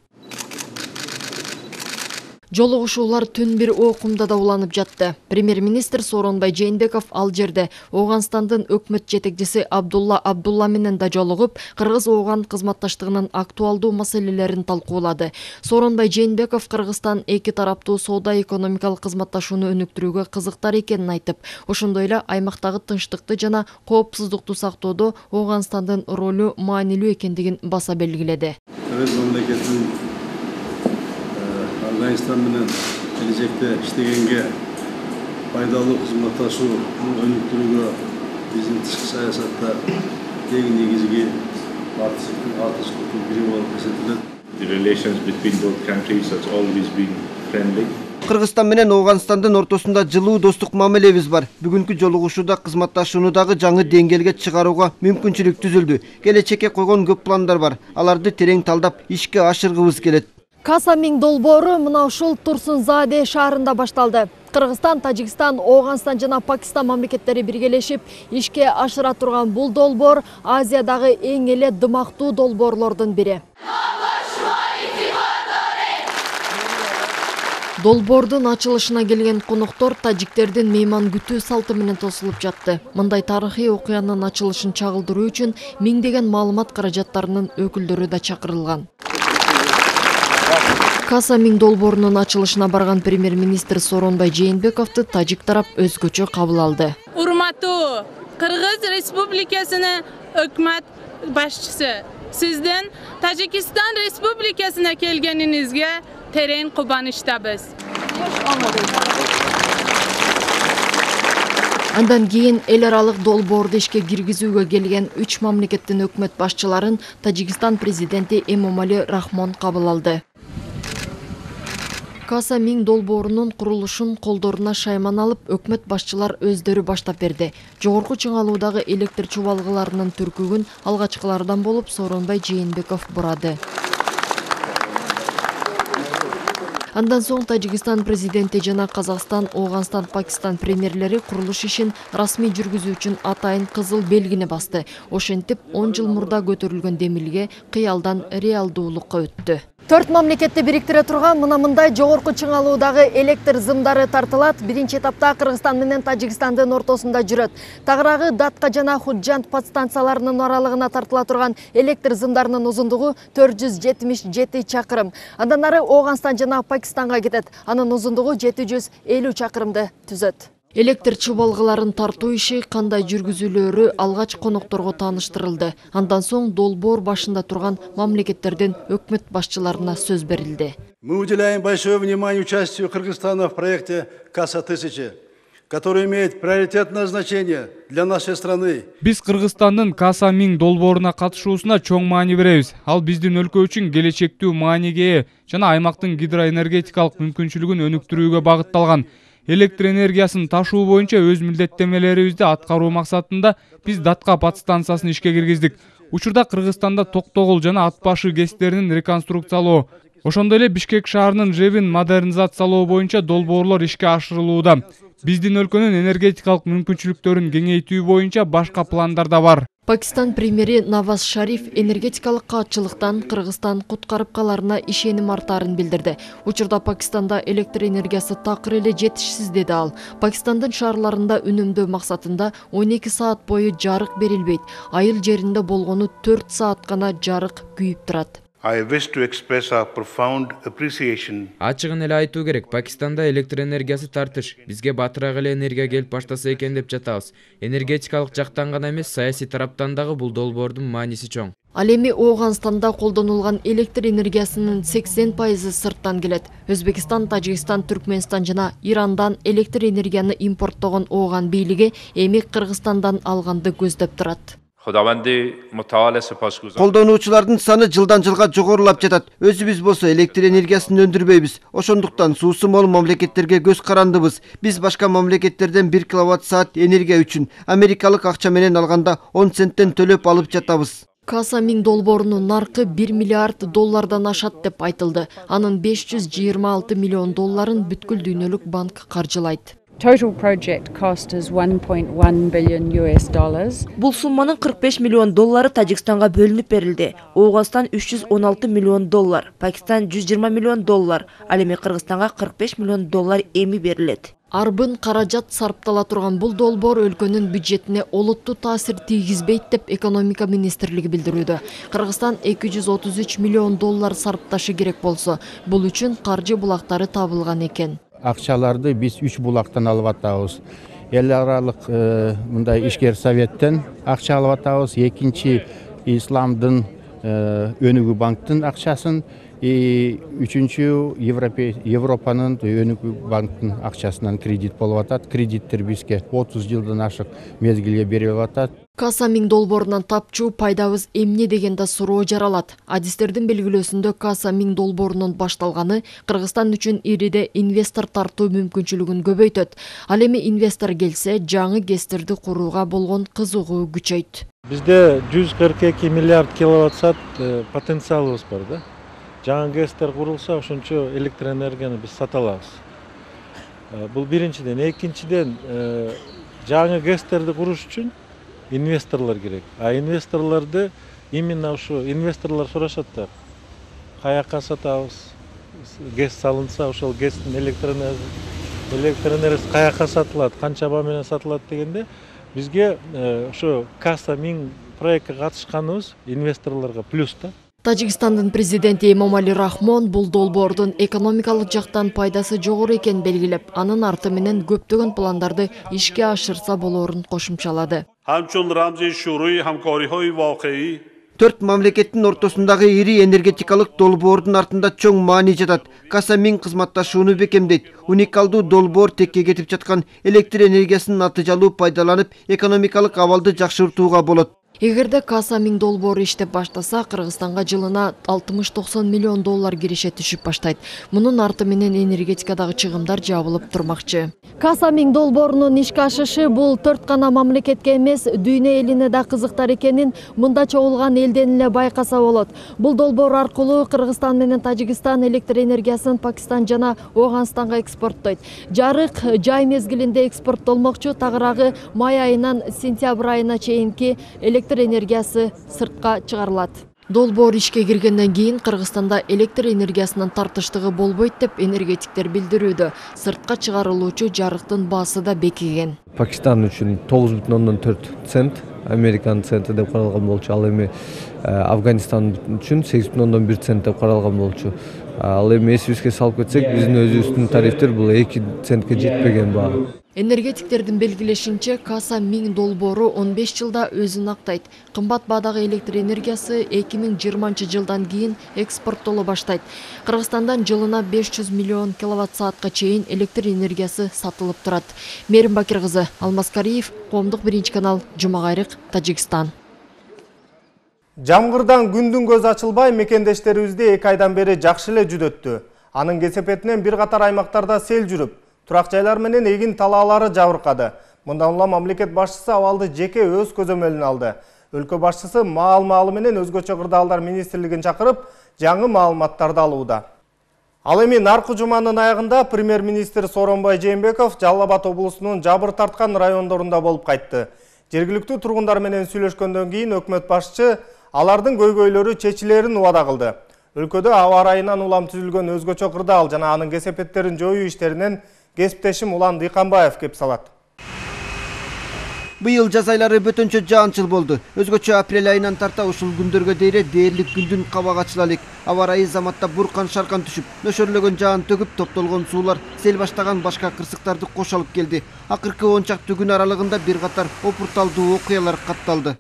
Жолугушуулар түн бир окумда да уланып жатты. Премьер-министр Сооронбай Жээнбеков ал жерде Ооганстандын өкмөт жетекчиси Абдулла Абдулла менен да жолугуп, Кыргыз-Ооган кызматташтыгынын актуалдуу маселелерин талкуулады. Сооронбай Жээнбеков Кыргызстан эки тараптуу соода-экономикалык кызматташууну өнүктүрүүгө кызыктар экенин айтып, ошондой эле аймактагы тынчтыкты жана коопсуздукту сактоодо Ооганстандын ролу маанилүү экендигин баса белгиледи. Афганистан менен келечекте иштегенге пайдалуу кызматташууну өнүктүрүүгө биздин тышкы саясатта эң негизги артыкчылыктын бири болуп эсептелет. The relations between both countries has always been friendly. Кыргызстан менен Ооганстандын ортосунда жылуу достук мамилебиз бар. Бүгүнкү жолугушууда кызматташууну дагы жаңы деңгээлге чыгарууга мүмкүнчүлүк түзүлдү. Келечекке койгон көп пландар бар. Аларды терең талдап, ишке ашыргыбыз келет. Касамин долбоору мына ушул Турсунзаде шаарында башталды. Кыргызстан, Тажикстан, Ооганстан жана Пакистан мамлекеттери биргелешип ишке ашыра турган бул долбоор Азиядагы эң эле дымактуу долбоорлордун бири. Долбоордун ачылышына келген коноктор тажиктердин мейман күтүү салты менен тосулуп жатты. Мындай тарыхый окуянын ачылышын чагылдыруу үчүн миңдеген маалымат каражаттарынын өкүлдөрү да чакырылган. Касамин долбоорунун ачылышына барган премьер-министр Сооронбай Жээнбековду тажик тарап өзгөчө кабыл алды. Урматтуу Кыргыз Республикасынын өкмөт башчысы, сиздин Тажикстан Республикасына келгениңизге терең кубанычтабыз. Андан кийин эл аралык долбоорду ишке киргизүүгө келген 3 мамлекеттин өкмөт башчыларын Тажикстан президенти Эмомали Рахмон кабыл алды. Касамин долбоорунун курулушун колдоруна шайман алып, өкмөт башчылар өздөрү баштап берди. Жогорку чыңалуудагы электр чубалгыларынын түркүгүн алгачкылардан болуп Сооронбай Жээнбеков бурады. Андан соң Тажикстан президенти жана Казакстан, Ооганстан, Пакистан премьерлери курулуш ишин расмий жүргүзүү үчүн атайын кызыл белгини басты. Ошентип 10 жыл мурда көтөрүлгөн демилге кыялдан реалдуулукка өттү. 4 мамлекетти бириктире турган мындай жогорку чыңалуудагы электр зымдары тартылат. Биринчи этапта Кыргызстан менен Тажикстандын ортосунда жүрөт. Тагыраагы Датка жана Худжант подстанцияларынын аралыгына тартыла турган электр зымдарынын узундугу 477 чакырым. Андан ары Ооганстан жана Пакистанга кетет. Анын узундугу 750 чакырымды түзөт. Электр чубалгыларын тартуу иши кандай жүргүзүлөөрү алгач конокторго тааныштырылды. Андан соң долбоор башында турган мамлекеттердин өкмөт башчыларына сөз берилди. Мы уделяем большое внимание участию Кыргызстана в проекте КАСА-1000, который имеет приоритетное значение для нашей страны. Биз Кыргызстандын Касамин долбооруна катышуусуна чоң маани беребиз. Ал биздин өлкө үчүн келечектүү мааниге ээ жана аймактын гидроэнергетикалык мүмкүнчүлүгүн өнүктүрүүгө багытталган. Электр энергиясын ташуу боюнча өз милдеттемелерибизди аткаруу максатында биз Датка подстанциясын ишке киргиздик. Учурда Кыргызстанда Токтогул жана Атбашы ГЭСтерин реконструкциялоо, ошондой эле Бишкек шаарынын ЖЭБин модернизациялоо боюнча долбоорлор ишке ашырылууда. Биздин өлкөнүн энергетикалык мүмкүнчүлүктөрүн кеңейтүү боюнча башка пландар да бар. Пакистан премьери Наваз Шариф энергетикалык каатчылыктан Кыргызстан куткарып каларына ишеним артаарын билдирди. Учурда Пакистанда электр энергиясы такыр эле жетишсиз деди ал. Пакистандын шаарларында үнөмдөө максатында 12 саат бою жарык берилбейт. Айыл жеринде болгону 4 саат гана жарык күйүп турат. I wish to express our profound appreciation. Ачыгын эле айтуу керек, Пакистанда электр энергиясы тартыш. Бизге батыраак эле энергия келип баштаса экен деп жатабыз. Энергетикалык жактан гана эмес, саясий тараптан дагы бул долбоордун мааниси чоң. Ал эми Ооганстанда колдонулган электр энергиясынын 80% сырттан келет. Өзбекстан, Тажикстан, Түркмөнстан жана Ирандан электр энергияны импорттогон Ооган бийлиги эми Кыргызстандан алганды көздөп турат. Колдонуучулардын саны жылдан жылга жогорулап жатат. Өзүбүз болсо электр энергиясын өндүрбөйбүз. Ошондуктан суусу мол мамлекеттерге көз карандыбыз. Биз башка мамлекеттерден 1 киловатт-саат энергия үчүн америкалык акча менен алганда 10 центтен төлөп алып жатабыз. Каса Миң долбоорунун наркы 1 миллиард доллардан ашат деп айтылды. Анын 526 миллион долларын бүткүл дүйнөлүк банк каржылайт. Total project cost is 1.1 billion US dollars. Бул сумманын 45 миллион доллары Тажикстанга бөлүнүп берилди. Ооганстан 316 миллион доллар, Пакистан 120 миллион доллар, ал эми Кыргызстанга 45 миллион доллар эми берилет. Арбын каражат сарптала турган бул долбоор өлкөнүн бюджетине олуттуу таасир тийгизбейт деп экономика министрлиги билдирүүдө. Кыргызстан 233 миллион доллар сарпташы керек болсо, бул үчүн каржы булактары табылган экен. Акчаларды биз 3 булактан алып атабыз. Эл аралык мындай ишкер советтен акча алып атабыз. Экинчи Исламдын өнүгүү банктын акчасын, үчүнчү Европанын өнүгүү банктын акчасынан кредит болуп атат. Кредиттер бизге 30 жылдан ашык мезгилге берилип атат. Каса Миң долбоорунан тапчу пайдабыз эмне деген да суроо жаралат. Адистердин белгилөөсүндө Каса Миң долбоорунун башталганы Кыргызстан үчүн ириде инвестор тартуу мүмкүнчүлүгүн көбөйтөт. Ал эми инвестор келсе, жаңы ГЭСтерди курууга болгон кызыгуу күчөйт. Бизде 142 миллиард киловатт-саат потенциалыбыз бар да. Жаңы ГЭСтер курулса, ошончо электр энергияны биз сата алабыз. Бул биринчиден, экинчиден жаңы ГЭСтерди куруш үчүн инвесторлор керек. А инвесторлорду именно ушу инвесторлор сурашат да. Каяка сатабыз? ГЭС салынса, ошол ГЭСтин электр энергиясы каяка сатылат, канча баа менен сатылат дегенде бизге ошо Каса Миң проектке катышканыбыз инвесторлорго плюс да. Тажикстандын президенти Эмомали Рахмон бул долбоордун экономикалык жактан пайдасы жогору экенин белгилеп, анын арты менен көптөгөн пландарды ишке ашырса болоорун кошумчалады. Төрт мамлекеттин ортосундагы ири энергетикалык долбоордун артында чоң маани жатат. Каса Миң кызматташууну бекемдейт. Уникалдуу долбоор текке кетип жаткан электр энергиясын натыйжалуу пайдаланып, экономикалык абалды жакшыртууга болот. Эгерде Каса Миң долбоору иштеп баштаса, Кыргызстанга жылына 60-90 миллион доллар киреше түшүп баштайт. Мунун арты менен энергетикадагы чыгымдар жабылып турмакчы. Каса Миң долбоорунун ишке ашышы бул төрт гана мамлекетке эмес, дүйнө элине да кызыктар экенин мында чогулган элден эле байкаса болот. Бул долбоор аркылуу Кыргызстан менен Тажикстан электр энергиясын Пакистан жана Ооганстанга экспорттойт. Жарык жай мезгилинде экспорттолмокчу, тагыраагы май айынан сентябрь айына чейинки электр энергиясы сыртка чыгарылат. Долбоор ишке киргенден кийин Кыргызстанда электр энергиясынын тартыштыгы болбойт деп энергетиктер билдирүүдө. Сыртка чыгарылуучу жарыктын баасы да бекиген. Пакистан үчүн 9,4 цент, Американ центи деп каралган болчу. Ал эми Афганистан үчүн 8,1 цент деп каралган болчу. Ал эми эсибизге салып кетсек, биздин өзүбүздүн тарифтер бул 2 центке жетпеген баа. Энергетиктердин белгилешинче, Каса Миң долбоору 15 жылда өзүн актайт. Кымбат баадагы электр энергиясы 2020 жылдан кийин экспорттоло баштайт. Кыргызстандан жылына 500 миллион киловатт-саатка чейин электр энергиясы сатылып турат. Мерим Бакир кызы, Алмаз Кариев, Коомдук биринчи канал, Жумагайрык, Тажикстан. Жамгырдан күндүн көз ачылбай, мекендештерибизде 2 айдан бери жакшы эле жүдөттү. Анын кесепетинен бир катар аймактарда сел жүрүп, турак жайлар менен эгин талаалары жабыркады. Мындан улам мамлекет башчысы абалды жеке өз көзөмөлүнө алды. Өлкө башчысы маал-маалы менен өзгөчө кырдаалдар министрлигин чакырып, жаңы маалыматтарды алууда. Ал эми наркы жуманын аягында премьер-министр Сооронбай Жээнбеков Жалал Абад облусунун жабыр тарткан райондорунда болуп кайтты. Жергиликтүү тургундар менен сүйлөшкөндөн кийин өкмөт башчы алардын көйгөйлөрү чечилерин убада кылды. Өлкөдө аба ырайынан улам түзүлгөн өзгөчө кырдаал жана анын кесепеттерин жоюу иштеринен кесиптешим Улан Дыйканбаев кеп салат. Быйыл жаз айлары бөтөнчө жаанчыл болду. Өзгөчө апрель айынан тарта ушул күндөргө дейре дээрлик күндүн кабак ачылалык. Аба ырайы заматта буркан шаркан түшүп, нөшөрлөгөн жаан төгүп, топтолгон суулар сел баштаган башка кырсыктарды кош алып келди. Акыркы 10 чакты күн аралыгында бир катар опурталдуу окуялар катталды.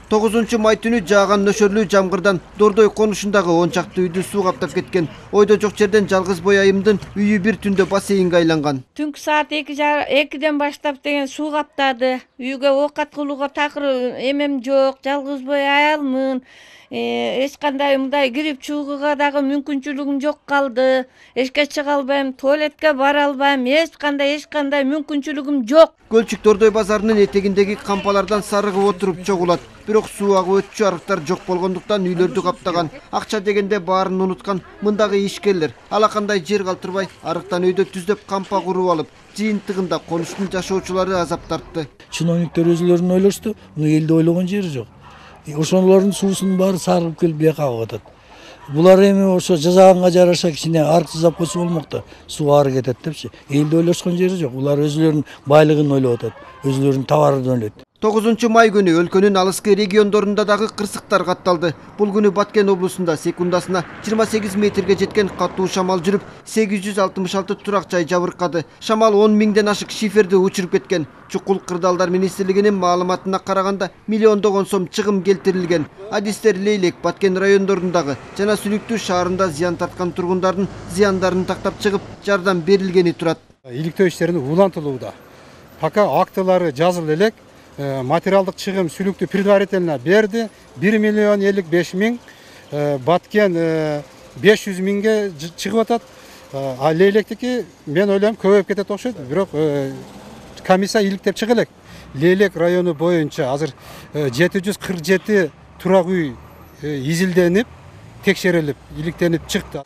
9 май түнү жааган нөшөрлүү жамгырдан Дордой конушундагы 10 чакты үйдү суу каптап кеткен. Ойдо жок жерден жалгыз бой айымдын үйү бир түндө бассейнге айланган. Түнкү саат 2:00 баштап деген суу каптады. Үйгө оокат кылууга такыр эмем жок, жалгыз бой аялмын. Эч кандай мындай кирип чыгууга дагы мүмкүнчүлүгүм жок калды. Эшикке чыга албайм, туалетке бара албайм, эч кандай мүмкүнчүлүгүм жок. Көлчүк Дордой базарынын этегиндеги кампалардан сарыгып отуруп чогулат. бирок суу агып өтчү арыктар жок болгондуктан үйлөрдү каптаган. Акча дегенде баарын унуткан мындагы ишкерлер алакандай жер калтырбай арыктан өйдө түздөп кампа куруп алып, жыйынтыгында конуштун жашоочулары азап тартты. Чиновниктер өзүлөрүн ойлошту, муну элди ойлогон жери жок. Ошолордун суусунун баары сарылып келип бияка агып атат. Булар эми ошо жазаганга жараша кичине арык жасап койсо болмок да, суу ары кетет депчи. Элди ойлошкон жери жок. Булар өзүлөрүнүн байлыгын ойлоп атат, өзүлөрүнүн товарын ойлойт. 9 май күнү өлкөнүн алыскы региондорунда дагы кырсыктар катталды. Бул күнү Баткен облусунда секундасына 28 метрге жеткен катуу шамал жүрүп, 866 турак жай жабыркады. Шамал 10 миңден ашык шиферди учуруп кеткен. Чукул Кырдаалдар министрлигинин маалыматына караганда миллиондогон сом чыгым келтирилген. Адистер Лейлек, Баткен райондорундагы жана Сүлүктүү шаарында зыян тарткан тургундардын зыяндарын тактап чыгып, жардам берилгени турат. Иликтөө иштерин улантылууда. Пока актылары жазылып элек, материалдык чыгым Сүлүктүү предварительно берди. 1 миллион 55 миң, Баткен 500 миңге чыгып атат. А Лейлектики мен ойлойм көбөйүп кетет окшойт, бирок комиссия иликтеп чыга элек. Лейлек району боюнча азыр 747 турак үй изилденип, текшерилип, иликтенип чыкты.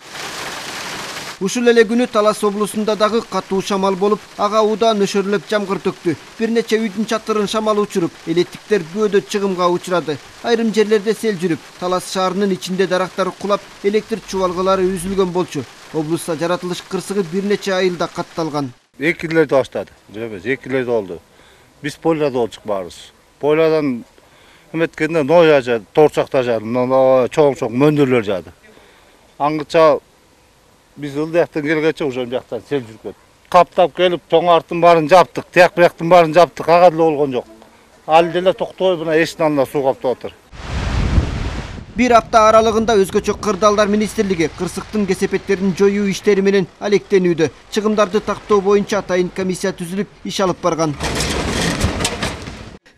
Ушул эле күнү Талас облусунда дагы катуу шамал болуп, ага удаан өшөрүлүп жамгыр төктү. Бир нече үйдүн чатырын шамал учуруп, электриктер бөөдө чыгымга учурады. Айрым жерлерде сел жүрүп, Талас шаарынын ичинде дарактар кулап, электр чубалгылары үзүлгөн болчу. Облуста жаратылыш кырсыгы бир нече айылда катталган. Экилерди баштады. Эмес, экилерди болду. Биз пойлада болчук баарыбыз. Поyladan эметкенде ноя жады, торчакта жады, чоң-чоң мөндүрлөр жады. Аңгыча biz ıldıyaktın gelgeçe uşam jақтан сел жүрүп кетти. Каптап келип, тоңартын барын жаптык, тияк бияктын барын жаптык, ага деле болгон жок. Ал деле токтобой мына эшиктин алдында суу каптап атыр. Bir апта аралыгында өзгөчө Кырдаалдар министрлиги кырсыктын кесепеттерин жоюу иштери менен алектенүүдө. Чыгымдарды тактоо боюнча атайын комиссия түзүлүп, иш алып барган.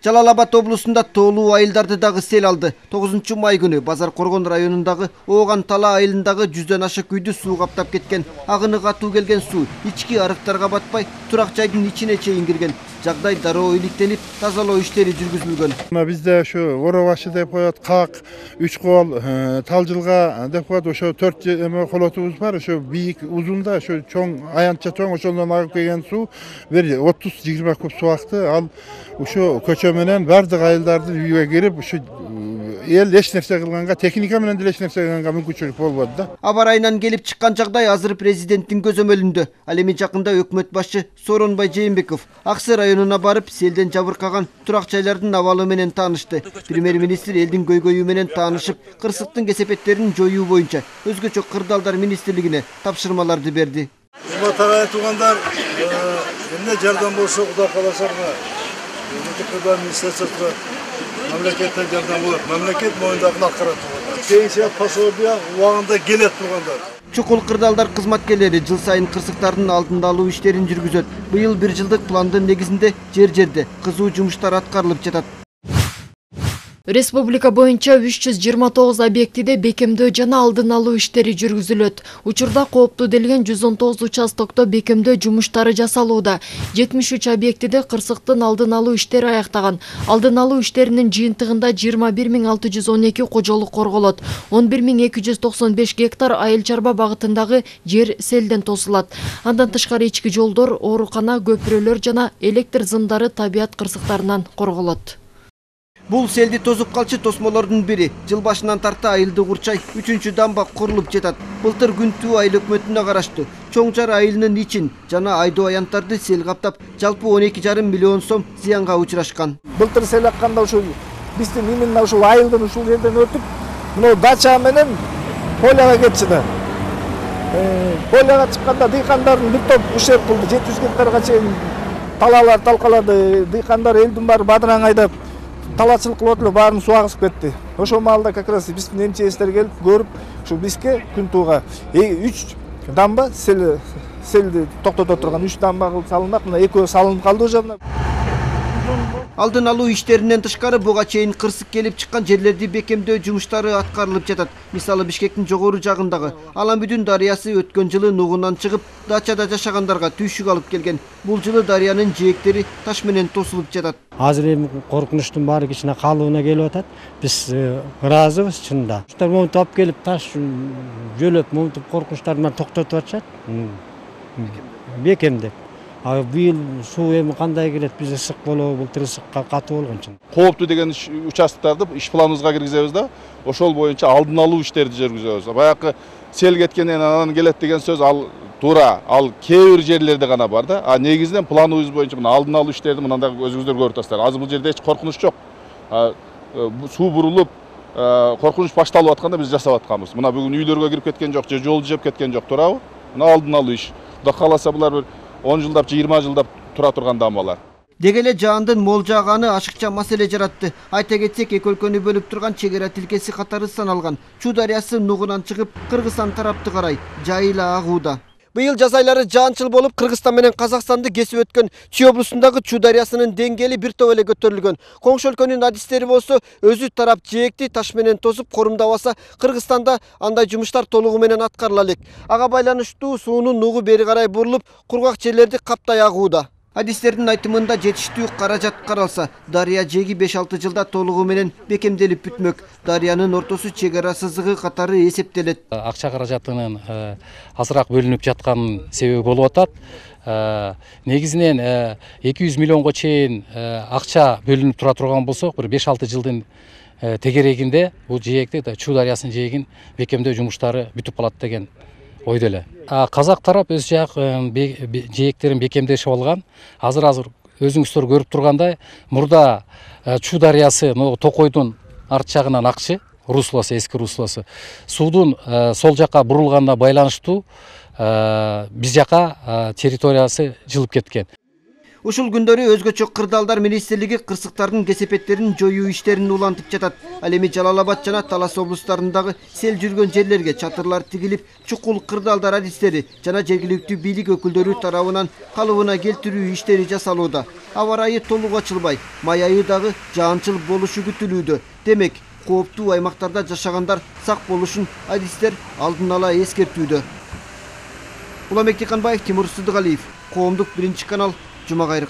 Жалал-Абад облусунда тоолуу айылдарды дагы сел алды. 9 май күнү Базар Коргон районундагы Ооган Тала айылындагы 100дөн ашык үйдү суу каптап кеткен. Агыны катуу келген суу ички арыктарга батпай, турак жайдын ичине чейин кирген. Жагдай дароо иликтенип, тазалоо иштери жүргүзүлгөн. Бизде ошо Оробашы деп коет, Как, 3 кол, Талжылга деп коет, ошо 4 колотубуз бар, ошо бийик узунда, ошо чоң, аянтча чоң, ошондон агып келген суу 30-20 куб суу акты. Ал ошо көчө менен бардык айылдардын үйгө кирип, ошо эл эч нерсе кылганга, техника менен деле эч нерсе кылганга мүмкүнчүлүк болбоду да. Аба райынан келип чыккан жагдай азыр президенттин көзөмөлүндө. Ал эми жакында өкмөт башчы Сооронбай Жээнбеков Аксы районуна барып, селден жабыркаган турак жайлардын абалы менен таанышты. Премьер-министр элдин көйгөйү менен таанышып, кырсыктын кесепеттерин жоюу боюнча өзгөчө Кырдаалдар министрлигине тапшырмаларды берди. Урматтаган туугандар, эмне жардам болсо Кудай кааласа Кырдаал министрлиги мамлекеттен жардам болот. Мамлекет моюндагын аткарат. Пенсия пособия убагында келет тургандар. Чукул Кырдаалдар кызматкерлери жыл сайын кырсыктардын алдын алуу иштерин жүргүзөт. Быйыл 1 жылдык пландын негизинде жер-жерде кызуу жумуштар аткарылып жатат. Республика боюнча 329 объектиде бекемдөө жана алдын алуу иштери жүргүзүлөт. Учурда кооптуу делген 119 участокто бекемдөө жумуштары жасалууда. 73 объектиде кырсыктын алдын алуу иштери аяктаган. Алдын алуу иштеринин жыйынтыгында 21612 кожолук корголот. 11295 гектар айыл чарба багытындагы жер селден тосулат. Андан тышкары ички жолдор, оорукана, көпүрөлөр жана электр зымдары табият кырсыктарынан корголот. Бул селди тозуп калчу тосмолордун бири. Жыл башынан тарта айылды курчай 3-чү дамба курулуп жатат. Былтыр Күнтүү айыл өкмөтүнө караштуу Чоңжар айылынын ичин жана айдоо аянттарды сел каптап, жалпы 12,5 миллион сом зыянга учурашкан. Былтыр сел акканда ушул биздин именно ушул айылдын ушул жерден өтүп, мына дача менен поляга кетчү да. Поляга чыкканда дыйкандардын бир топ ушерп кылды, 700 гектарга чейин талаалар талкалады. Дыйкандар элдин баары бадыраң айдап талачылык кылып эле баарын суу агызып кетти. Ошол маалда как раз биздин МЧСтер келип көрүп, ушу бизге Күнтууга 3 дамба селди токтото турган 3 дамба кылып салынмак. Мына экөө салынып калды уже. Алдын алуу иштеринен тышкары буга чейин кырсык келип чыккан жерлерди бекемдөө жумуштары аткарылып жатат. Мисалы Бишкектин жогору жагындагы Аламбүдүн дарыясы өткөн жылы нугунан чыгып, дачада жашагандарга түйшүк алып келген. Бул жылы дарыянын жээктери таш менен тосулуп жатат. Азыр эми коркунучтун баары кичине калыбына келип атат. Биз ыраазыбыз чынында. Ушундай момунтуп алып келип таш жөлөп, момунтуп коркунучтарды менен токтотуп атышат. Бекемдеп. Быйыл суу эми кандай келет, биз ысык болобу, былтыр ысыкка катуу болгон чын. Кооптуу деген участоктарды иш планыбызга киргизебиз да, ошол боюнча алдын алуу иштерди жүргүзөбүз. Баягы сел кеткенден анан келет деген сөз ал туура, ал кээ бир жерлерде гана бар да. А негизинен планыбыз боюнча мына алдын алуу иштерди мындай өзүңүздөр көрүп атасыздар. Азыр бул жерде эч коркунуч жок. Суу бурулуп, коркунуч башталып атканда биз жасап атканбыз. Мына бүгүн үйлөргө кирип кеткен жок, же жол жеп кеткен жок, туурабы? Мына алдын алуу иш. Кудай кааласа булар бир 10 жылдап, 20 жылдап тура турган дамбалар. Деги эле жаандын мол жааганы ашыкча маселе жаратты. Айта кетсек, эки өлкөнү бөлүп турган чек ара тилкеси катары саналган Чу дарыясы нугунан чыгып, Кыргызстан тарапты карай жайыла агууда. Быйыл жаз айлары жаанчыл болуп, Кыргызстан менен Казакстанды кесип өткөн Чүй облусундагы Чу дарыясынын деңгээли бир топ эле көтөрүлгөн. Коңшу өлкөнүн адистери болсо, өзү тарап жээкти таш менен тосуп корумдабаса, Кыргызстанда андай жумуштар толугу менен аткарыла элек. Ага байланыштуу суунун нугу бери карай бурулуп, кургак жерлерди каптай агууда. Адистердин айтымында жетиштүү каражат каралса, дарыя жээги 5-6 жылда толугу менен бекемделип бүтмөк. Дарыянын ортосу чек ара сызыгы катары эсептелет. Акча каражатынын азыраак бөлүнүп жатканын себеби болуп атат. Негизинен 200 миллионго чейин акча бөлүнүп тура турган болсок, бир 5-6 жылдын тегерегинде бул жээкти, Чу дарыясынын жээгин бекемдөө жумуштары бүтүп калат деген ойдо эле. Казак тарап өз жээктерин бекемдешип алган. Азыр өзүңүздөр көрүп тургандай, мурда Чу дарыясы Токойдун арт жагынан акчы, руслоосу, эски руслоосу. Суудун сол жака бурулганына байланыштуу биз жака территориясы жылып кеткен. Ушул күндөрү өзгөчө кырдаалдар министрлиги кырсыктардын кесепеттерин жоюу иштерин улантып жатат. Ал эми Жалал Абад жана Талас облустарындагы сел жүргөн жерлерге чатырлар тигилип, чукул кырдаалдар адистери жана жергиликтүү бийлик өкүлдөрү тарабынан калыбына келтирүү иштери жасалууда. Аба ырайы толук ачылбай, май айы дагы жаанчыл болушу күтүлүүдө. Демек, кооптуу аймактарда жашагандар сак болушун адистер алдын ала эскертүүдө. Уламек Тиканбаев, Тимур Сыдыгалиев, Коомдук 1 канал, Жума кайрык.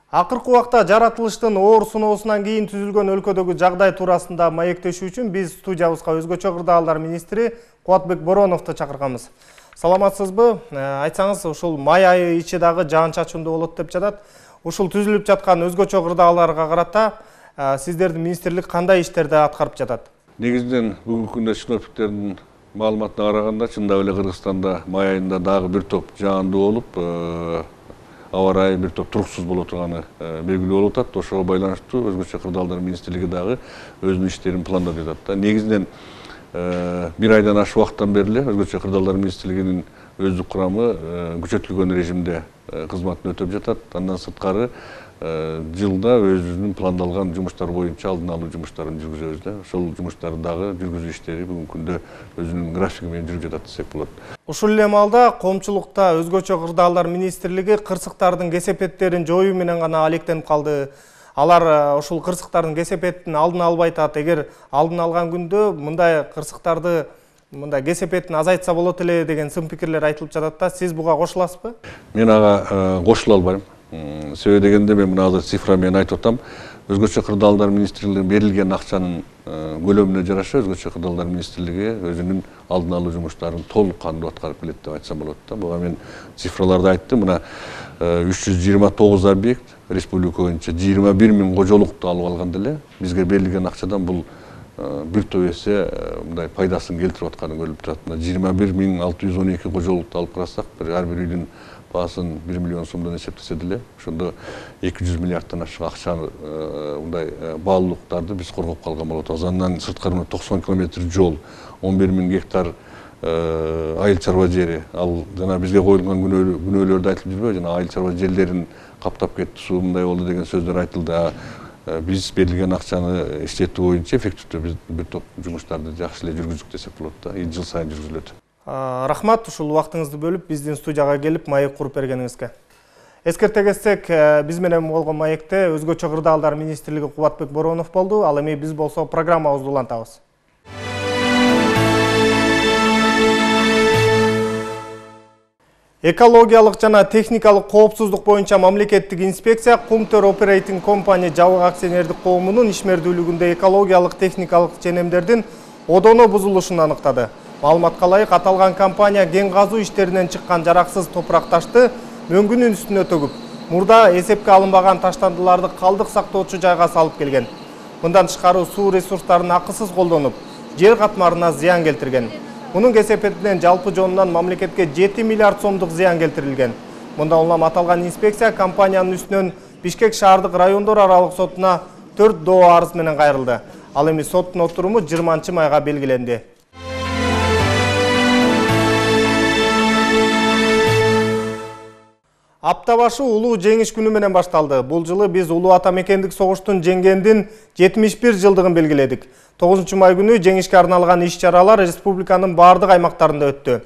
Акыркы убакта жаратылыштын оор сыноосунан кийин түзүлгөн өлкөдөгү жагдай туурасында маектешүү үчүн биз студиябызга өзгөчө кырдаалдар министри Кубатбек Бороновду чакырганбыз. Саламатсызбы? Айтсаңыз, ушул май айы ичи дагы жаан-чачындуу болот деп жатат. Ушул түзүлүп жаткан өзгөчө кырдаалдарга карата сиздердин министрлик кандай иштерди аткарып жатат? Негизинен бүгүнкү күндө синоптиктердин маалыматына караганда чындап эле Кыргызстанда май айында дагы бир топ жаандуу болуп, аба ырайы бир топ туруксуз боло турганы белгилүү болуп атат. Ошого байланыштуу өзгөчө кырдаалдар министрлиги дагы өзүнүн иштерин пландап жатат. Негизинен бир айдан ашык убакыттан бери эле өзгөчө кырдаалдар министрлигинин өздүк курамы күчөтүлгөн режимде кызматын өтөп жатат. Андан сырткары жылда өзүнүн пландалган жумуштар боюнча алдын алуу жумуштарын жүргүзөбүз да. Ошол жумуштарды дагы жүргүзүү иштери бүгүнкү күндө өзүнүн графиги менен жүрүп жатат десек болот. Ушул эле маалда коомчулукта өзгөчө кырдаалдар министрлиги кырсыктардын кесепеттерин жоюу менен гана алектенип калды. Алар ушул кырсыктардын кесепетин алдын албай атат. Эгер алдын алган күндө мындай кырсыктарды мындай кесепетин азайтса болот эле деген сын пикирлер айтылып жатат да. Сиз буга кошуласызбы? Мен ага кошула албайм. Себеби дегенде мен мына азыр цифра менен айтып атам. Өзгөчө кырдаалдар министрлигине берилген акчанын көлөмүнө жараша өзгөчө кырдаалдар министрлиги өзүнүн алдын алуу жумуштарын толук кандуу аткарып келет деп айтсам болот да. Буга мен цифраларды айттым. Мына 329 объект республика боюнча 21 000 кожолукту алып алганда эле бизге берилген акчадан бул бир топ эсе мындай пайдасын келтирип атканы көрүлүп турат. 21 612 кожолукту алып карасак, ар бир үйдүн баасын 1 миллион сомдон эсептесе деле, ошондо 200 миллиардтан ашык акчаны мындай баалуулуктарды биз коргоп калган болот. Андан сырткары 90 километр жол, 11 000 гектар айыл чарба жери. Ал жана бизге коюлган күнөөлөрдү айтылып жүрбөйбү? Жана айыл чарба жерлерин каптап кетти, суу мындай болду деген сөздөр айтылды. Биз берилген акчаны иштетүү боюнча эффективдүү бир топ жумуштарды жакшы эле жүргүздүк десек болот да. Жыл сайын жүргүзүлөт. Рахмат, ушул убактыңызды бөлүп биздин студияга келип маек куруп бергениңизге. Эскерте кетсек, биз менен болгон маекте өзгөчө кырдаалдар министрлиги Кубатбек Боронов болду. Ал эми биз болсо программабызды улантабыз. Экологиялык жана техникалык коопсуздук боюнча мамлекеттик инспекция Кумтөр Operating Company жабык акционердик коомунун ишмердүүлүгүндө экологиялык техникалык ченемдердин одоно бузулушун аныктады. Маалыматка ылайык, аталган компания кен казуу иштеринен чыккан жараксыз топурак ташты мөңгүнүн үстүнө төгүп, мурда эсепке алынбаган таштандыларды калдык сактоочу жайга салып келген. Мындан тышкары суу ресурстарын акысыз колдонуп, жер катмарына зыян келтирген. Мунун кесепетинен жалпы жонунан мамлекетке 7 миллиард сомдук зыян келтирилген. Мындан улам аталган инспекция компаниянын үстүнөн Бишкек шаардык райондор аралык сотуна 4 доо арыз менен кайрылды. Ал эми соттун отуруму 20-майга белгиленди. Апта башы улуу жеңиш күнү менен башталды. Бул жылы биз улуу ата мекендик согуштун жеңгендин 71 жылдыгын белгиледик. 9-май күнү жеңишке арналган иш-чаралар республиканын бардык аймактарында өттү.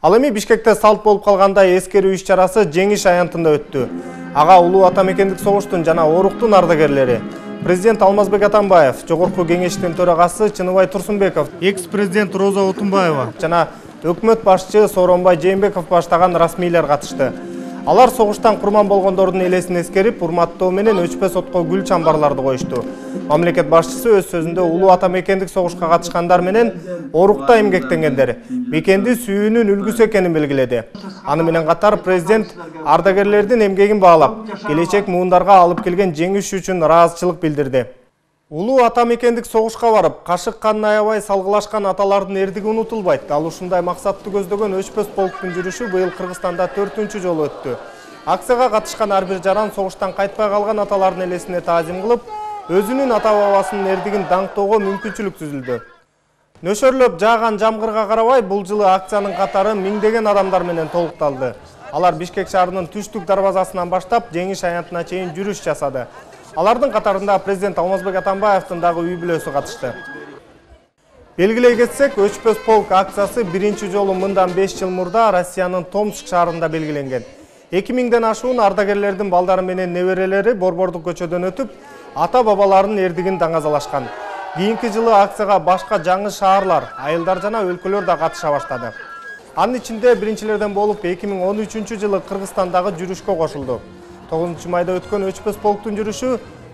Ал эми Бишкекте салт болуп калгандай эскерүү иш-чарасы жеңиш аянтында өттү. Ага улуу ата мекендик согуштун жана оруктун ардагерлери, президент Алмазбек Атамбаев, жогорку кеңештин төрагасы Чыныбай Турсунбеков, экс-президент Роза Отунбаева жана өкмөт башчы Сооронбай Жээнбеков баштаган расмийлер катышты. Алар согуштан курман болгондордун элесин эскерип, урматтоо менен өчпө сотко гүл чамбарларды коюшту. Мамлекет башчысы өз сөзүндө улуу ата мекендик согушка катышкандар менен орукта эмгектенгендер мекенди сүйүүнүн үлгүсү экенин белгиледи. Аны менен катар президент ардагерлердин эмгегин баалап, келечек муундарга алып келген жеңиш үчүн ыраазычылык билдирди. Улуу ата мекендик согушка барып, кашык канын аябай салгылашкан аталардын эрдиги унутулбайт. Ал ушундай максатты көздөгөн өчпөс полктун жүрүшү быйыл Кыргызстанда 4-чү жолу өттү. Акцияга катышкан ар бир жаран согуштан кайтпай калган аталардын элесине таазим кылып, өзүнүн ата бабасынын эрдигин даңктоого мүмкүнчүлүк түзүлдү. Нөшөрлөп жааган жамгырга карабай, бул жылы акциянын катары миңдеген адамдар менен толукталды. Алар Бишкек шаарынын түштүк дарбазасынан баштап жеңиш аянтына чейин жүрүш жасады. Алардын катарында президент Алмазбек Атамбаевдин дагы үй бүлөсү катышты. Белгилей кетсек, өчпөс полк акциясы биринчи жолу мындан 5 жыл мурда Россиянын Томск шаарында белгиленген. 2000ден ашуун ардагерлердин балдары менен неберелери Борбордук көчөдөн өтүп, ата бабаларынын эрдигин даңазалашкан. Кийинки жылы акцияга башка жаңы шаарлар, айылдар жана өлкөлөр да катыша баштады. Анын ичинде биринчилерден болуп 2013-жылы Кыргызстандагы жүрүшкө кошулду. 9-майда өткөн өчпөс полктун жүрүшү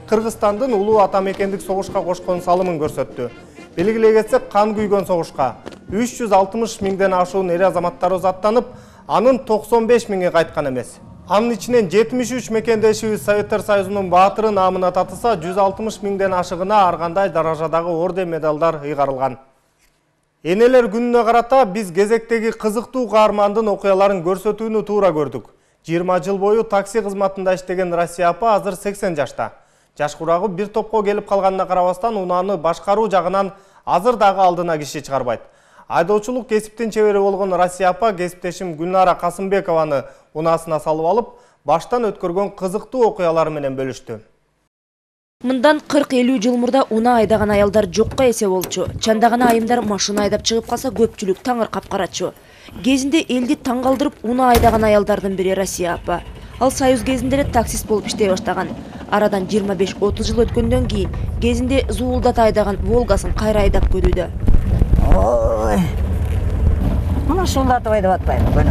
Кыргызстандын улуу ата мекендик согушка кошкон салымын көрсөттү. Белгилей кетсек, кан күйгөн согушка 360 миңден ашуун эр азаматтар аттанып, анын 95 миңи кайткан эмес. Анын ичинен 73 мекендешибиз Советтер Союзунун баатыры наамына татыса, 160 миңден ашыгына ар кандай даражадагы орден медалдар ыйгарылган. Энелер күнүнө карата биз кезектеги кызыктуу каармандын окуяларын көрсөтүүнү туура көрдүк. 20 жыл бою такси кызматында иштеген Россия апа азыр 80 жашта. Жаш курагы бир топко келип калганына карабастан унааны башкаруу жагынан азыр дагы алдына киши чыгарбайт. Айдоочулук кесиптин чебери болгон Россия апа кесиптешим Гүлнара Касымбекованы унаасына салып алып, баштан өткөргөн кызыктуу окуялары менен бөлүштү. Мындан 40-50 жыл мурда унаа айдаган аялдар жокко эсе болчу. Чандаган айымдар машина айдап чыгып калса көпчүлүк таңыр капкарачу. Кезинде элди таң калтырып унаа айдаган аялдардын бири Россия апа. Ал Союз кезинде эле таксист болуп иштей баштаган. Арадан 25-30 жыл өткөндөн кийин кезинде зуулдата айдаган Волгасын кайра айдап көрүүдө. Ой. Муну шулдатып айдап атпайбы.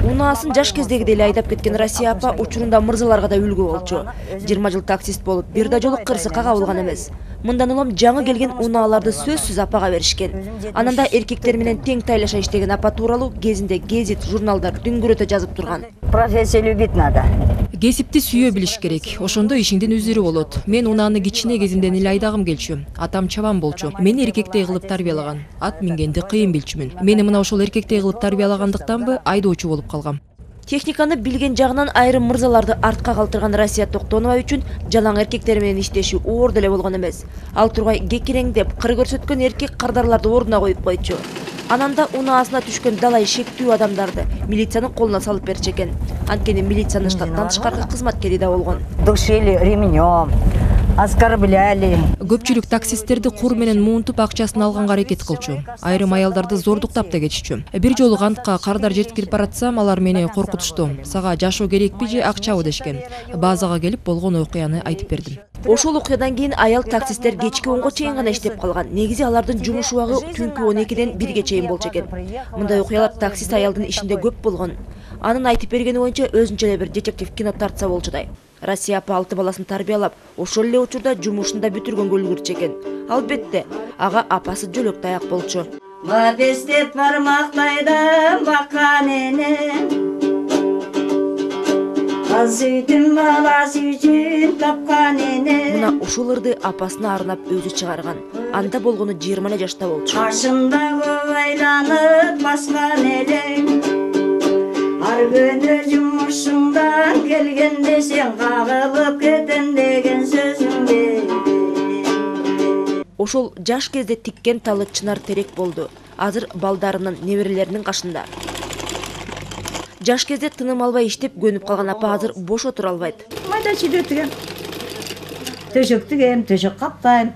Унаасын жаш кездегидей эле айдап кеткен Россия апа учурунда мырзаларга да үлгү болчу. 20 жыл таксист болуп, бир да жолу кырсыкка кабылган эмес. Мындан улам жаңы келген унааларды сөзсүз апага беришкен. Ананда эркектер менен тең тайлаша иштеген апа тууралуу кезинде гезит, журналдар дүңгүрөтө жазып турган. Профессия любить надо. Кесипти сүйө билиш керек. Ошондо ишиңдин үзүрү болот. Мен унааны кичине кезимден эле айдагым келчү. Атам чабан болчу. Мени эркектей кылып тарбиялаган. Ат мингенди кыйын билчүмүн. Мени мына ошол эркектей кылып тарбиялагандыктанбы айдоочу болуп калгам. Техниканы билген жагынан айрым мырзаларды артка калтырган Россия Токтонова үчүн жалаң эркектер менен иштеши оор деле болгон эмес. Ал тургай кекиреңдеп, кыр көрсөткөн эркек кардарларды ордуна коюп койчу. Ананда унаасына түшкөн далай шектүү адамдарды милициянын колуна салып берчү экен. Анткени милициянын штаттан тышкаркы кызматкери да болгон. Душили ремнем, Аскар Билали. Көпчүлүк таксисттерди кур менен муунтуп акчасын алганга аракет кылчу. Айрым аялдарды зордуктап да кетишчү. Бир жолу кантка кардар жеткирип баратсам, алар мени коркутушту. Сага жашоо керекпи же акчабы дешкен. Базага келип болгон окуяны айтып бердим. Ошол окуядан кийин аял таксисттер кечки 10го чейин гана иштеп калган. Негизи алардын жумуш убагы түнкү 12ден 1ге чейин болчу экен. Мындай окуялар таксист аялдын ишинде көп болгон. Анын айтып бергени боюнча өзүнчө эле бир детектив кино тартса болчудай. Россия апа 6 баласын тарбиялап, ошол эле учурда жумушун да бүтүргөнгө үлгүрчү экен. Албетте, ага апасы жөлөк таяк болчу. Бадестет бармактайдан баккан эне. Азыйдын баласы үчүн тапкан эне. Мына ушул ырды апасына арнап өзү чыгарган. Анда болгону 20 жашта болчу. Каршымда көп айланып баскан элең. Ар күнү жумушуңдан келгенде сен кагылып кетем деген сөзүңдө. Ошол жаш кезде тиккен талы чынар терек болду. Азыр балдарынын, неберелеринин кашында. Жаш кезде тыным албай иштеп көнүп калган апа азыр бош отура албайт. Майда чүйдө тигем. Төшөк тигем, төшөк каптайм.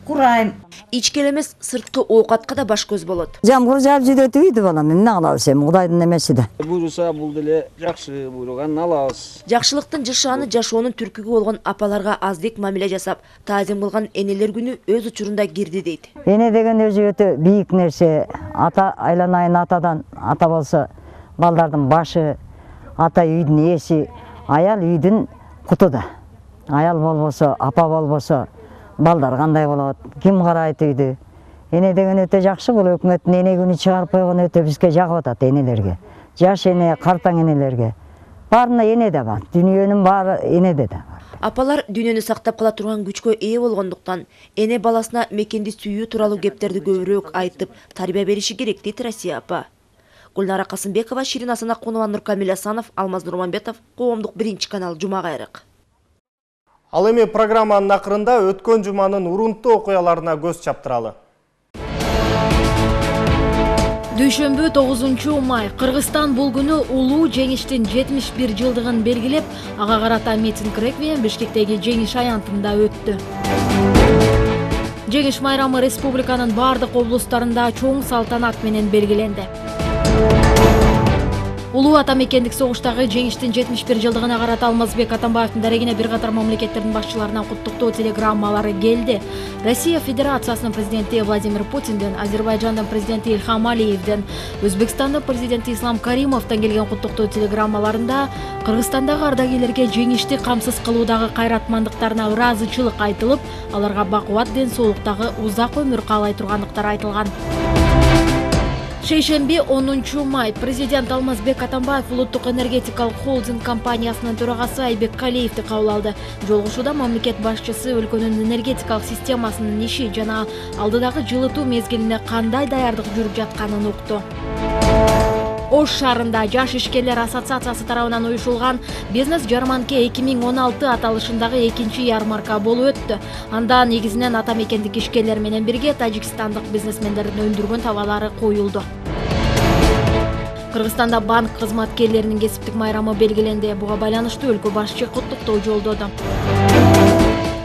Курайм. Ички эмес, сырткы оокатка да баш көз болот. Жамгыр жаап жүйдөтүп ийди балам. Эмне кылабыз эми? Кудайдын эмеси да. Буйруса бул деле жакшы, буйруганын алабыз. Жакшылыктын жышааны жашоонун түркүгү болгон апаларга аздык мамиле жасап, таазим кылган энелер күнү өз учурунда кирди дейт. Эне деген өзү өтө бийик нерсе. Ата айланайын атадан, ата болсо балдардын башы, ата үйдүн ээси, аял үйдүн куту да. Аял болбосо, апа болбосо балдар кандай болот? Ким карайт үйдү? Эне деген өтө жакшы, бул өкмөттүн эне күнү чыгарып койгон өтө бизге жагып атат энелерге. Жаш эне, картаң энелерге. Баарына эне да бар. Дүйнөнүн баары энеде да бар. Апалар дүйнөнү сактап кала турган күчкө ээ болгондуктан эне баласына мекенди сүйүү тууралуу кептерди көбүрөөк айтып, тарбия бериши керек дейт Россия апа. Гүлнара Касымбекова, Ширин Асанакунова, Нуркамил Асанов, Алмаз Нурманбетов, Коомдук 1-канал, Жума кайрык. Ал эми программанын акырында өткөн жуманын урунттуу окуяларына көз чаптыралы. Дүйшөмбү 9 май Кыргызстан бул күнү улуу жеңиштин 71 жылдыгын белгилеп, ага карата митинг реквием Бишкектеги жеңиш аянтында өттү. Жеңиш майрамы республиканын бардык облустарында чоң салтанат менен белгиленди. Улуу ата мекендик согуштагы жеңиштин 71 жылдыгына карата Алмазбек Атамбаевдин дарегине бир катар мамлекеттердин башчыларынан куттуктоо телеграммалары келди. Россия Федерациясынын президенти Владимир Путинден, Азербайжандын президенти Ильхам Алиевден, Өзбекстандын президенти Ислам Каримовдон келген куттуктоо телеграммаларында Кыргызстандагы ардагерлерге жеңишти камсыз кылуудагы кайратмандыктарына ыраазычылык айтылып, аларга бакубат ден соолуктагы узак өмүр каалай тургандыктары айтылган. Шейшемби 10 май президент Алмазбек Атамбаев улуттук энергетикалык холдинг компаниясынын төрагасы Айбек Калиевди кабыл алды. Жолугушууда мамлекет башчысы өлкөнүн энергетикалык системасынын иши жана алдыдагы жылытуу мезгилине кандай даярдык жүрүп жатканын укту. Ош шаарында Жаш ишкерлер ассоциациясы тарабынан уюшулган бизнес жарманке 2016 аталышындагы экинчи ярмарка болуп өттү. Анда негизинен ата мекендик ишкерлер менен бирге тажикстандык бизнесмендердин өндүргөн товарлары коюлду. Кыргызстанда банк кызматкерлеринин кесиптик майрамы белгиленди. Буга байланыштуу өлкө башчы куттуктоо жолдоду.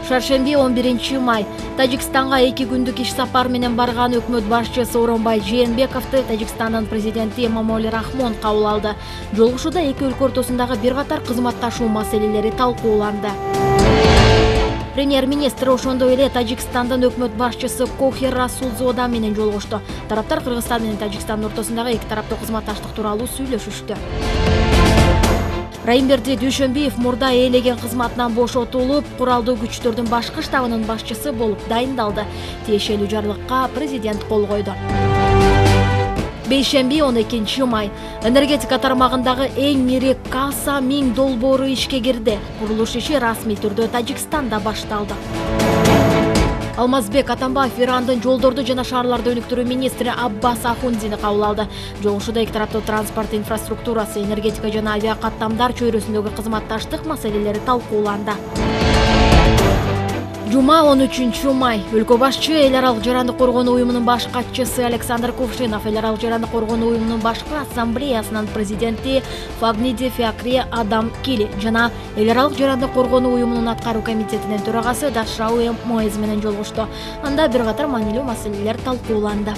Шаршемби 11 май Тажикстанга 2 күндүк иш сапар менен барган өкмөт башчысы Сооронбай Жээнбековду Тажикстандын президенти Эмомали Рахмон кабыл алды. Жолугушууда эки өлкө ортосундагы бир катар кызматташуу маселелери талкууланды. Премьер-министр ошондой эле Тажикстандын өкмөт башчысы Кохер Расулзода менен жолугушту. Тараптар Кыргызстан менен Тажикстандын ортосундагы эки тараптуу кызматташтык тууралуу сүйлөшүштү. Райымберди Дүйшөмбиев мурда ээлеген кызматынан бошотулуп, куралдуу күчтөрдүн башкы штабынын башчысы болуп дайындалды. Тиешелүү жарлыкка президент кол койду. Бейшемби 12 май энергетика тармагындагы эң ири Каса 1000 долбоору ишке кирди. Курулуш иши расмий түрдө Тажикстанда башталды. Алмазбек Атамбаев Ирандын жолдорду жана шаарларды өнүктүрүү министри Аббас Ахундини кабыл алды. Жолугушууда эки тараптуу транспорт инфраструктурасы, энергетика жана авиакаттамдар чөйрөсүндөгү кызматташтык маселелери талкууланды. Жума 13 май. Өлкө башчы эл аралык жарандык коргонуу уюмунун баш катчысы Александр Кувшинов эл аралык жарандык коргонуу уюмунун башкы ассамблеясынын президенти Фагниди Фиакри Адам Кили жана эл аралык жарандык коргонуу уюмунун аткаруу комитетинин төрагасы Дашрауи Моез менен жолугушту. Анда бир катар маанилүү маселелер талкууланды.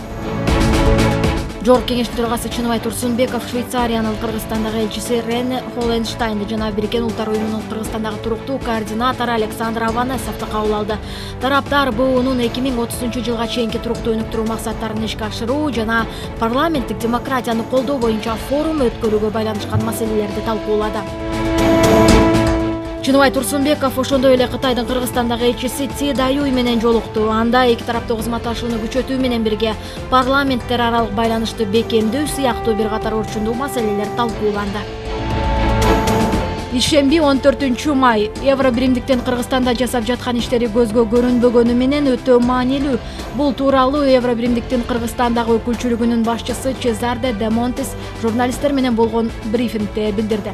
Жогорку кеңештин төрагасы Чыныбай Турсунбеков Швейцариянын Кыргызстандагы элчиси Рене Холленштайнды жана Бириккен Улуттар уюмунун Кыргызстандагы туруктуу координатору Александр Аванесовду кабыл алды. Тараптар БУнун 2030 жылга чейинки туруктуу өнүктүрүү максаттарын ишке ашыруу жана парламенттик демократияны колдоо боюнча форум өткөрүүгө байланышкан маселелерди талкуулады. Чыныбай Турсунбеков ошондой эле Кытайдын Кыргызстандагы элчиси Ти Даюй менен жолукту. Анда эки тараптуу кызматташууну күчөтүү менен бирге парламенттер аралык байланышты бекемдөө сыяктуу бир катар орчундуу маселелер талкууланды. Ишемби 14 май. Евро биримдиктин Кыргызстанда жасап жаткан иштери көзгө көрүнбөгөнү менен өтө маанилүү. Бул тууралуу Евро биримдиктин Кыргызстандагы өкүлчүлүгүнүн башчысы Чезарде де Монтес журналисттер менен болгон брифингде билдирди.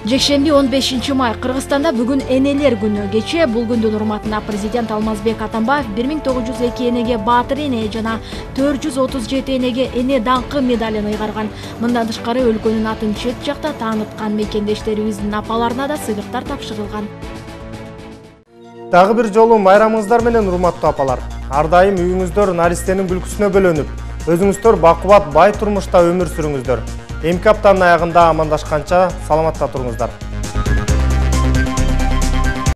Жекшемби 15 май. Кыргызстанда бүгүн энелер күнү. Кечээ бул күндүн урматына президент Алмазбек Атамбаев 1902 энеге баатыр эне жана 437 энеге эне даңкы медалын ыйгарган. Мындан тышкары өлкөнүн атын чет жакта тааныткан мекендештерибиздин апаларына да сыйлыктар тапшырылган. Дагы бир жолу майрамыңыздар менен урматтуу апалар. Ар дайым үйүңүздөр наристенин күлкүсүнө бөлөнүп, өзүңүздөр бакубат бай турмушта өмүр сүрүңүздөр. Эмки аптанын аягында амандашканча саламатта туруңуздар.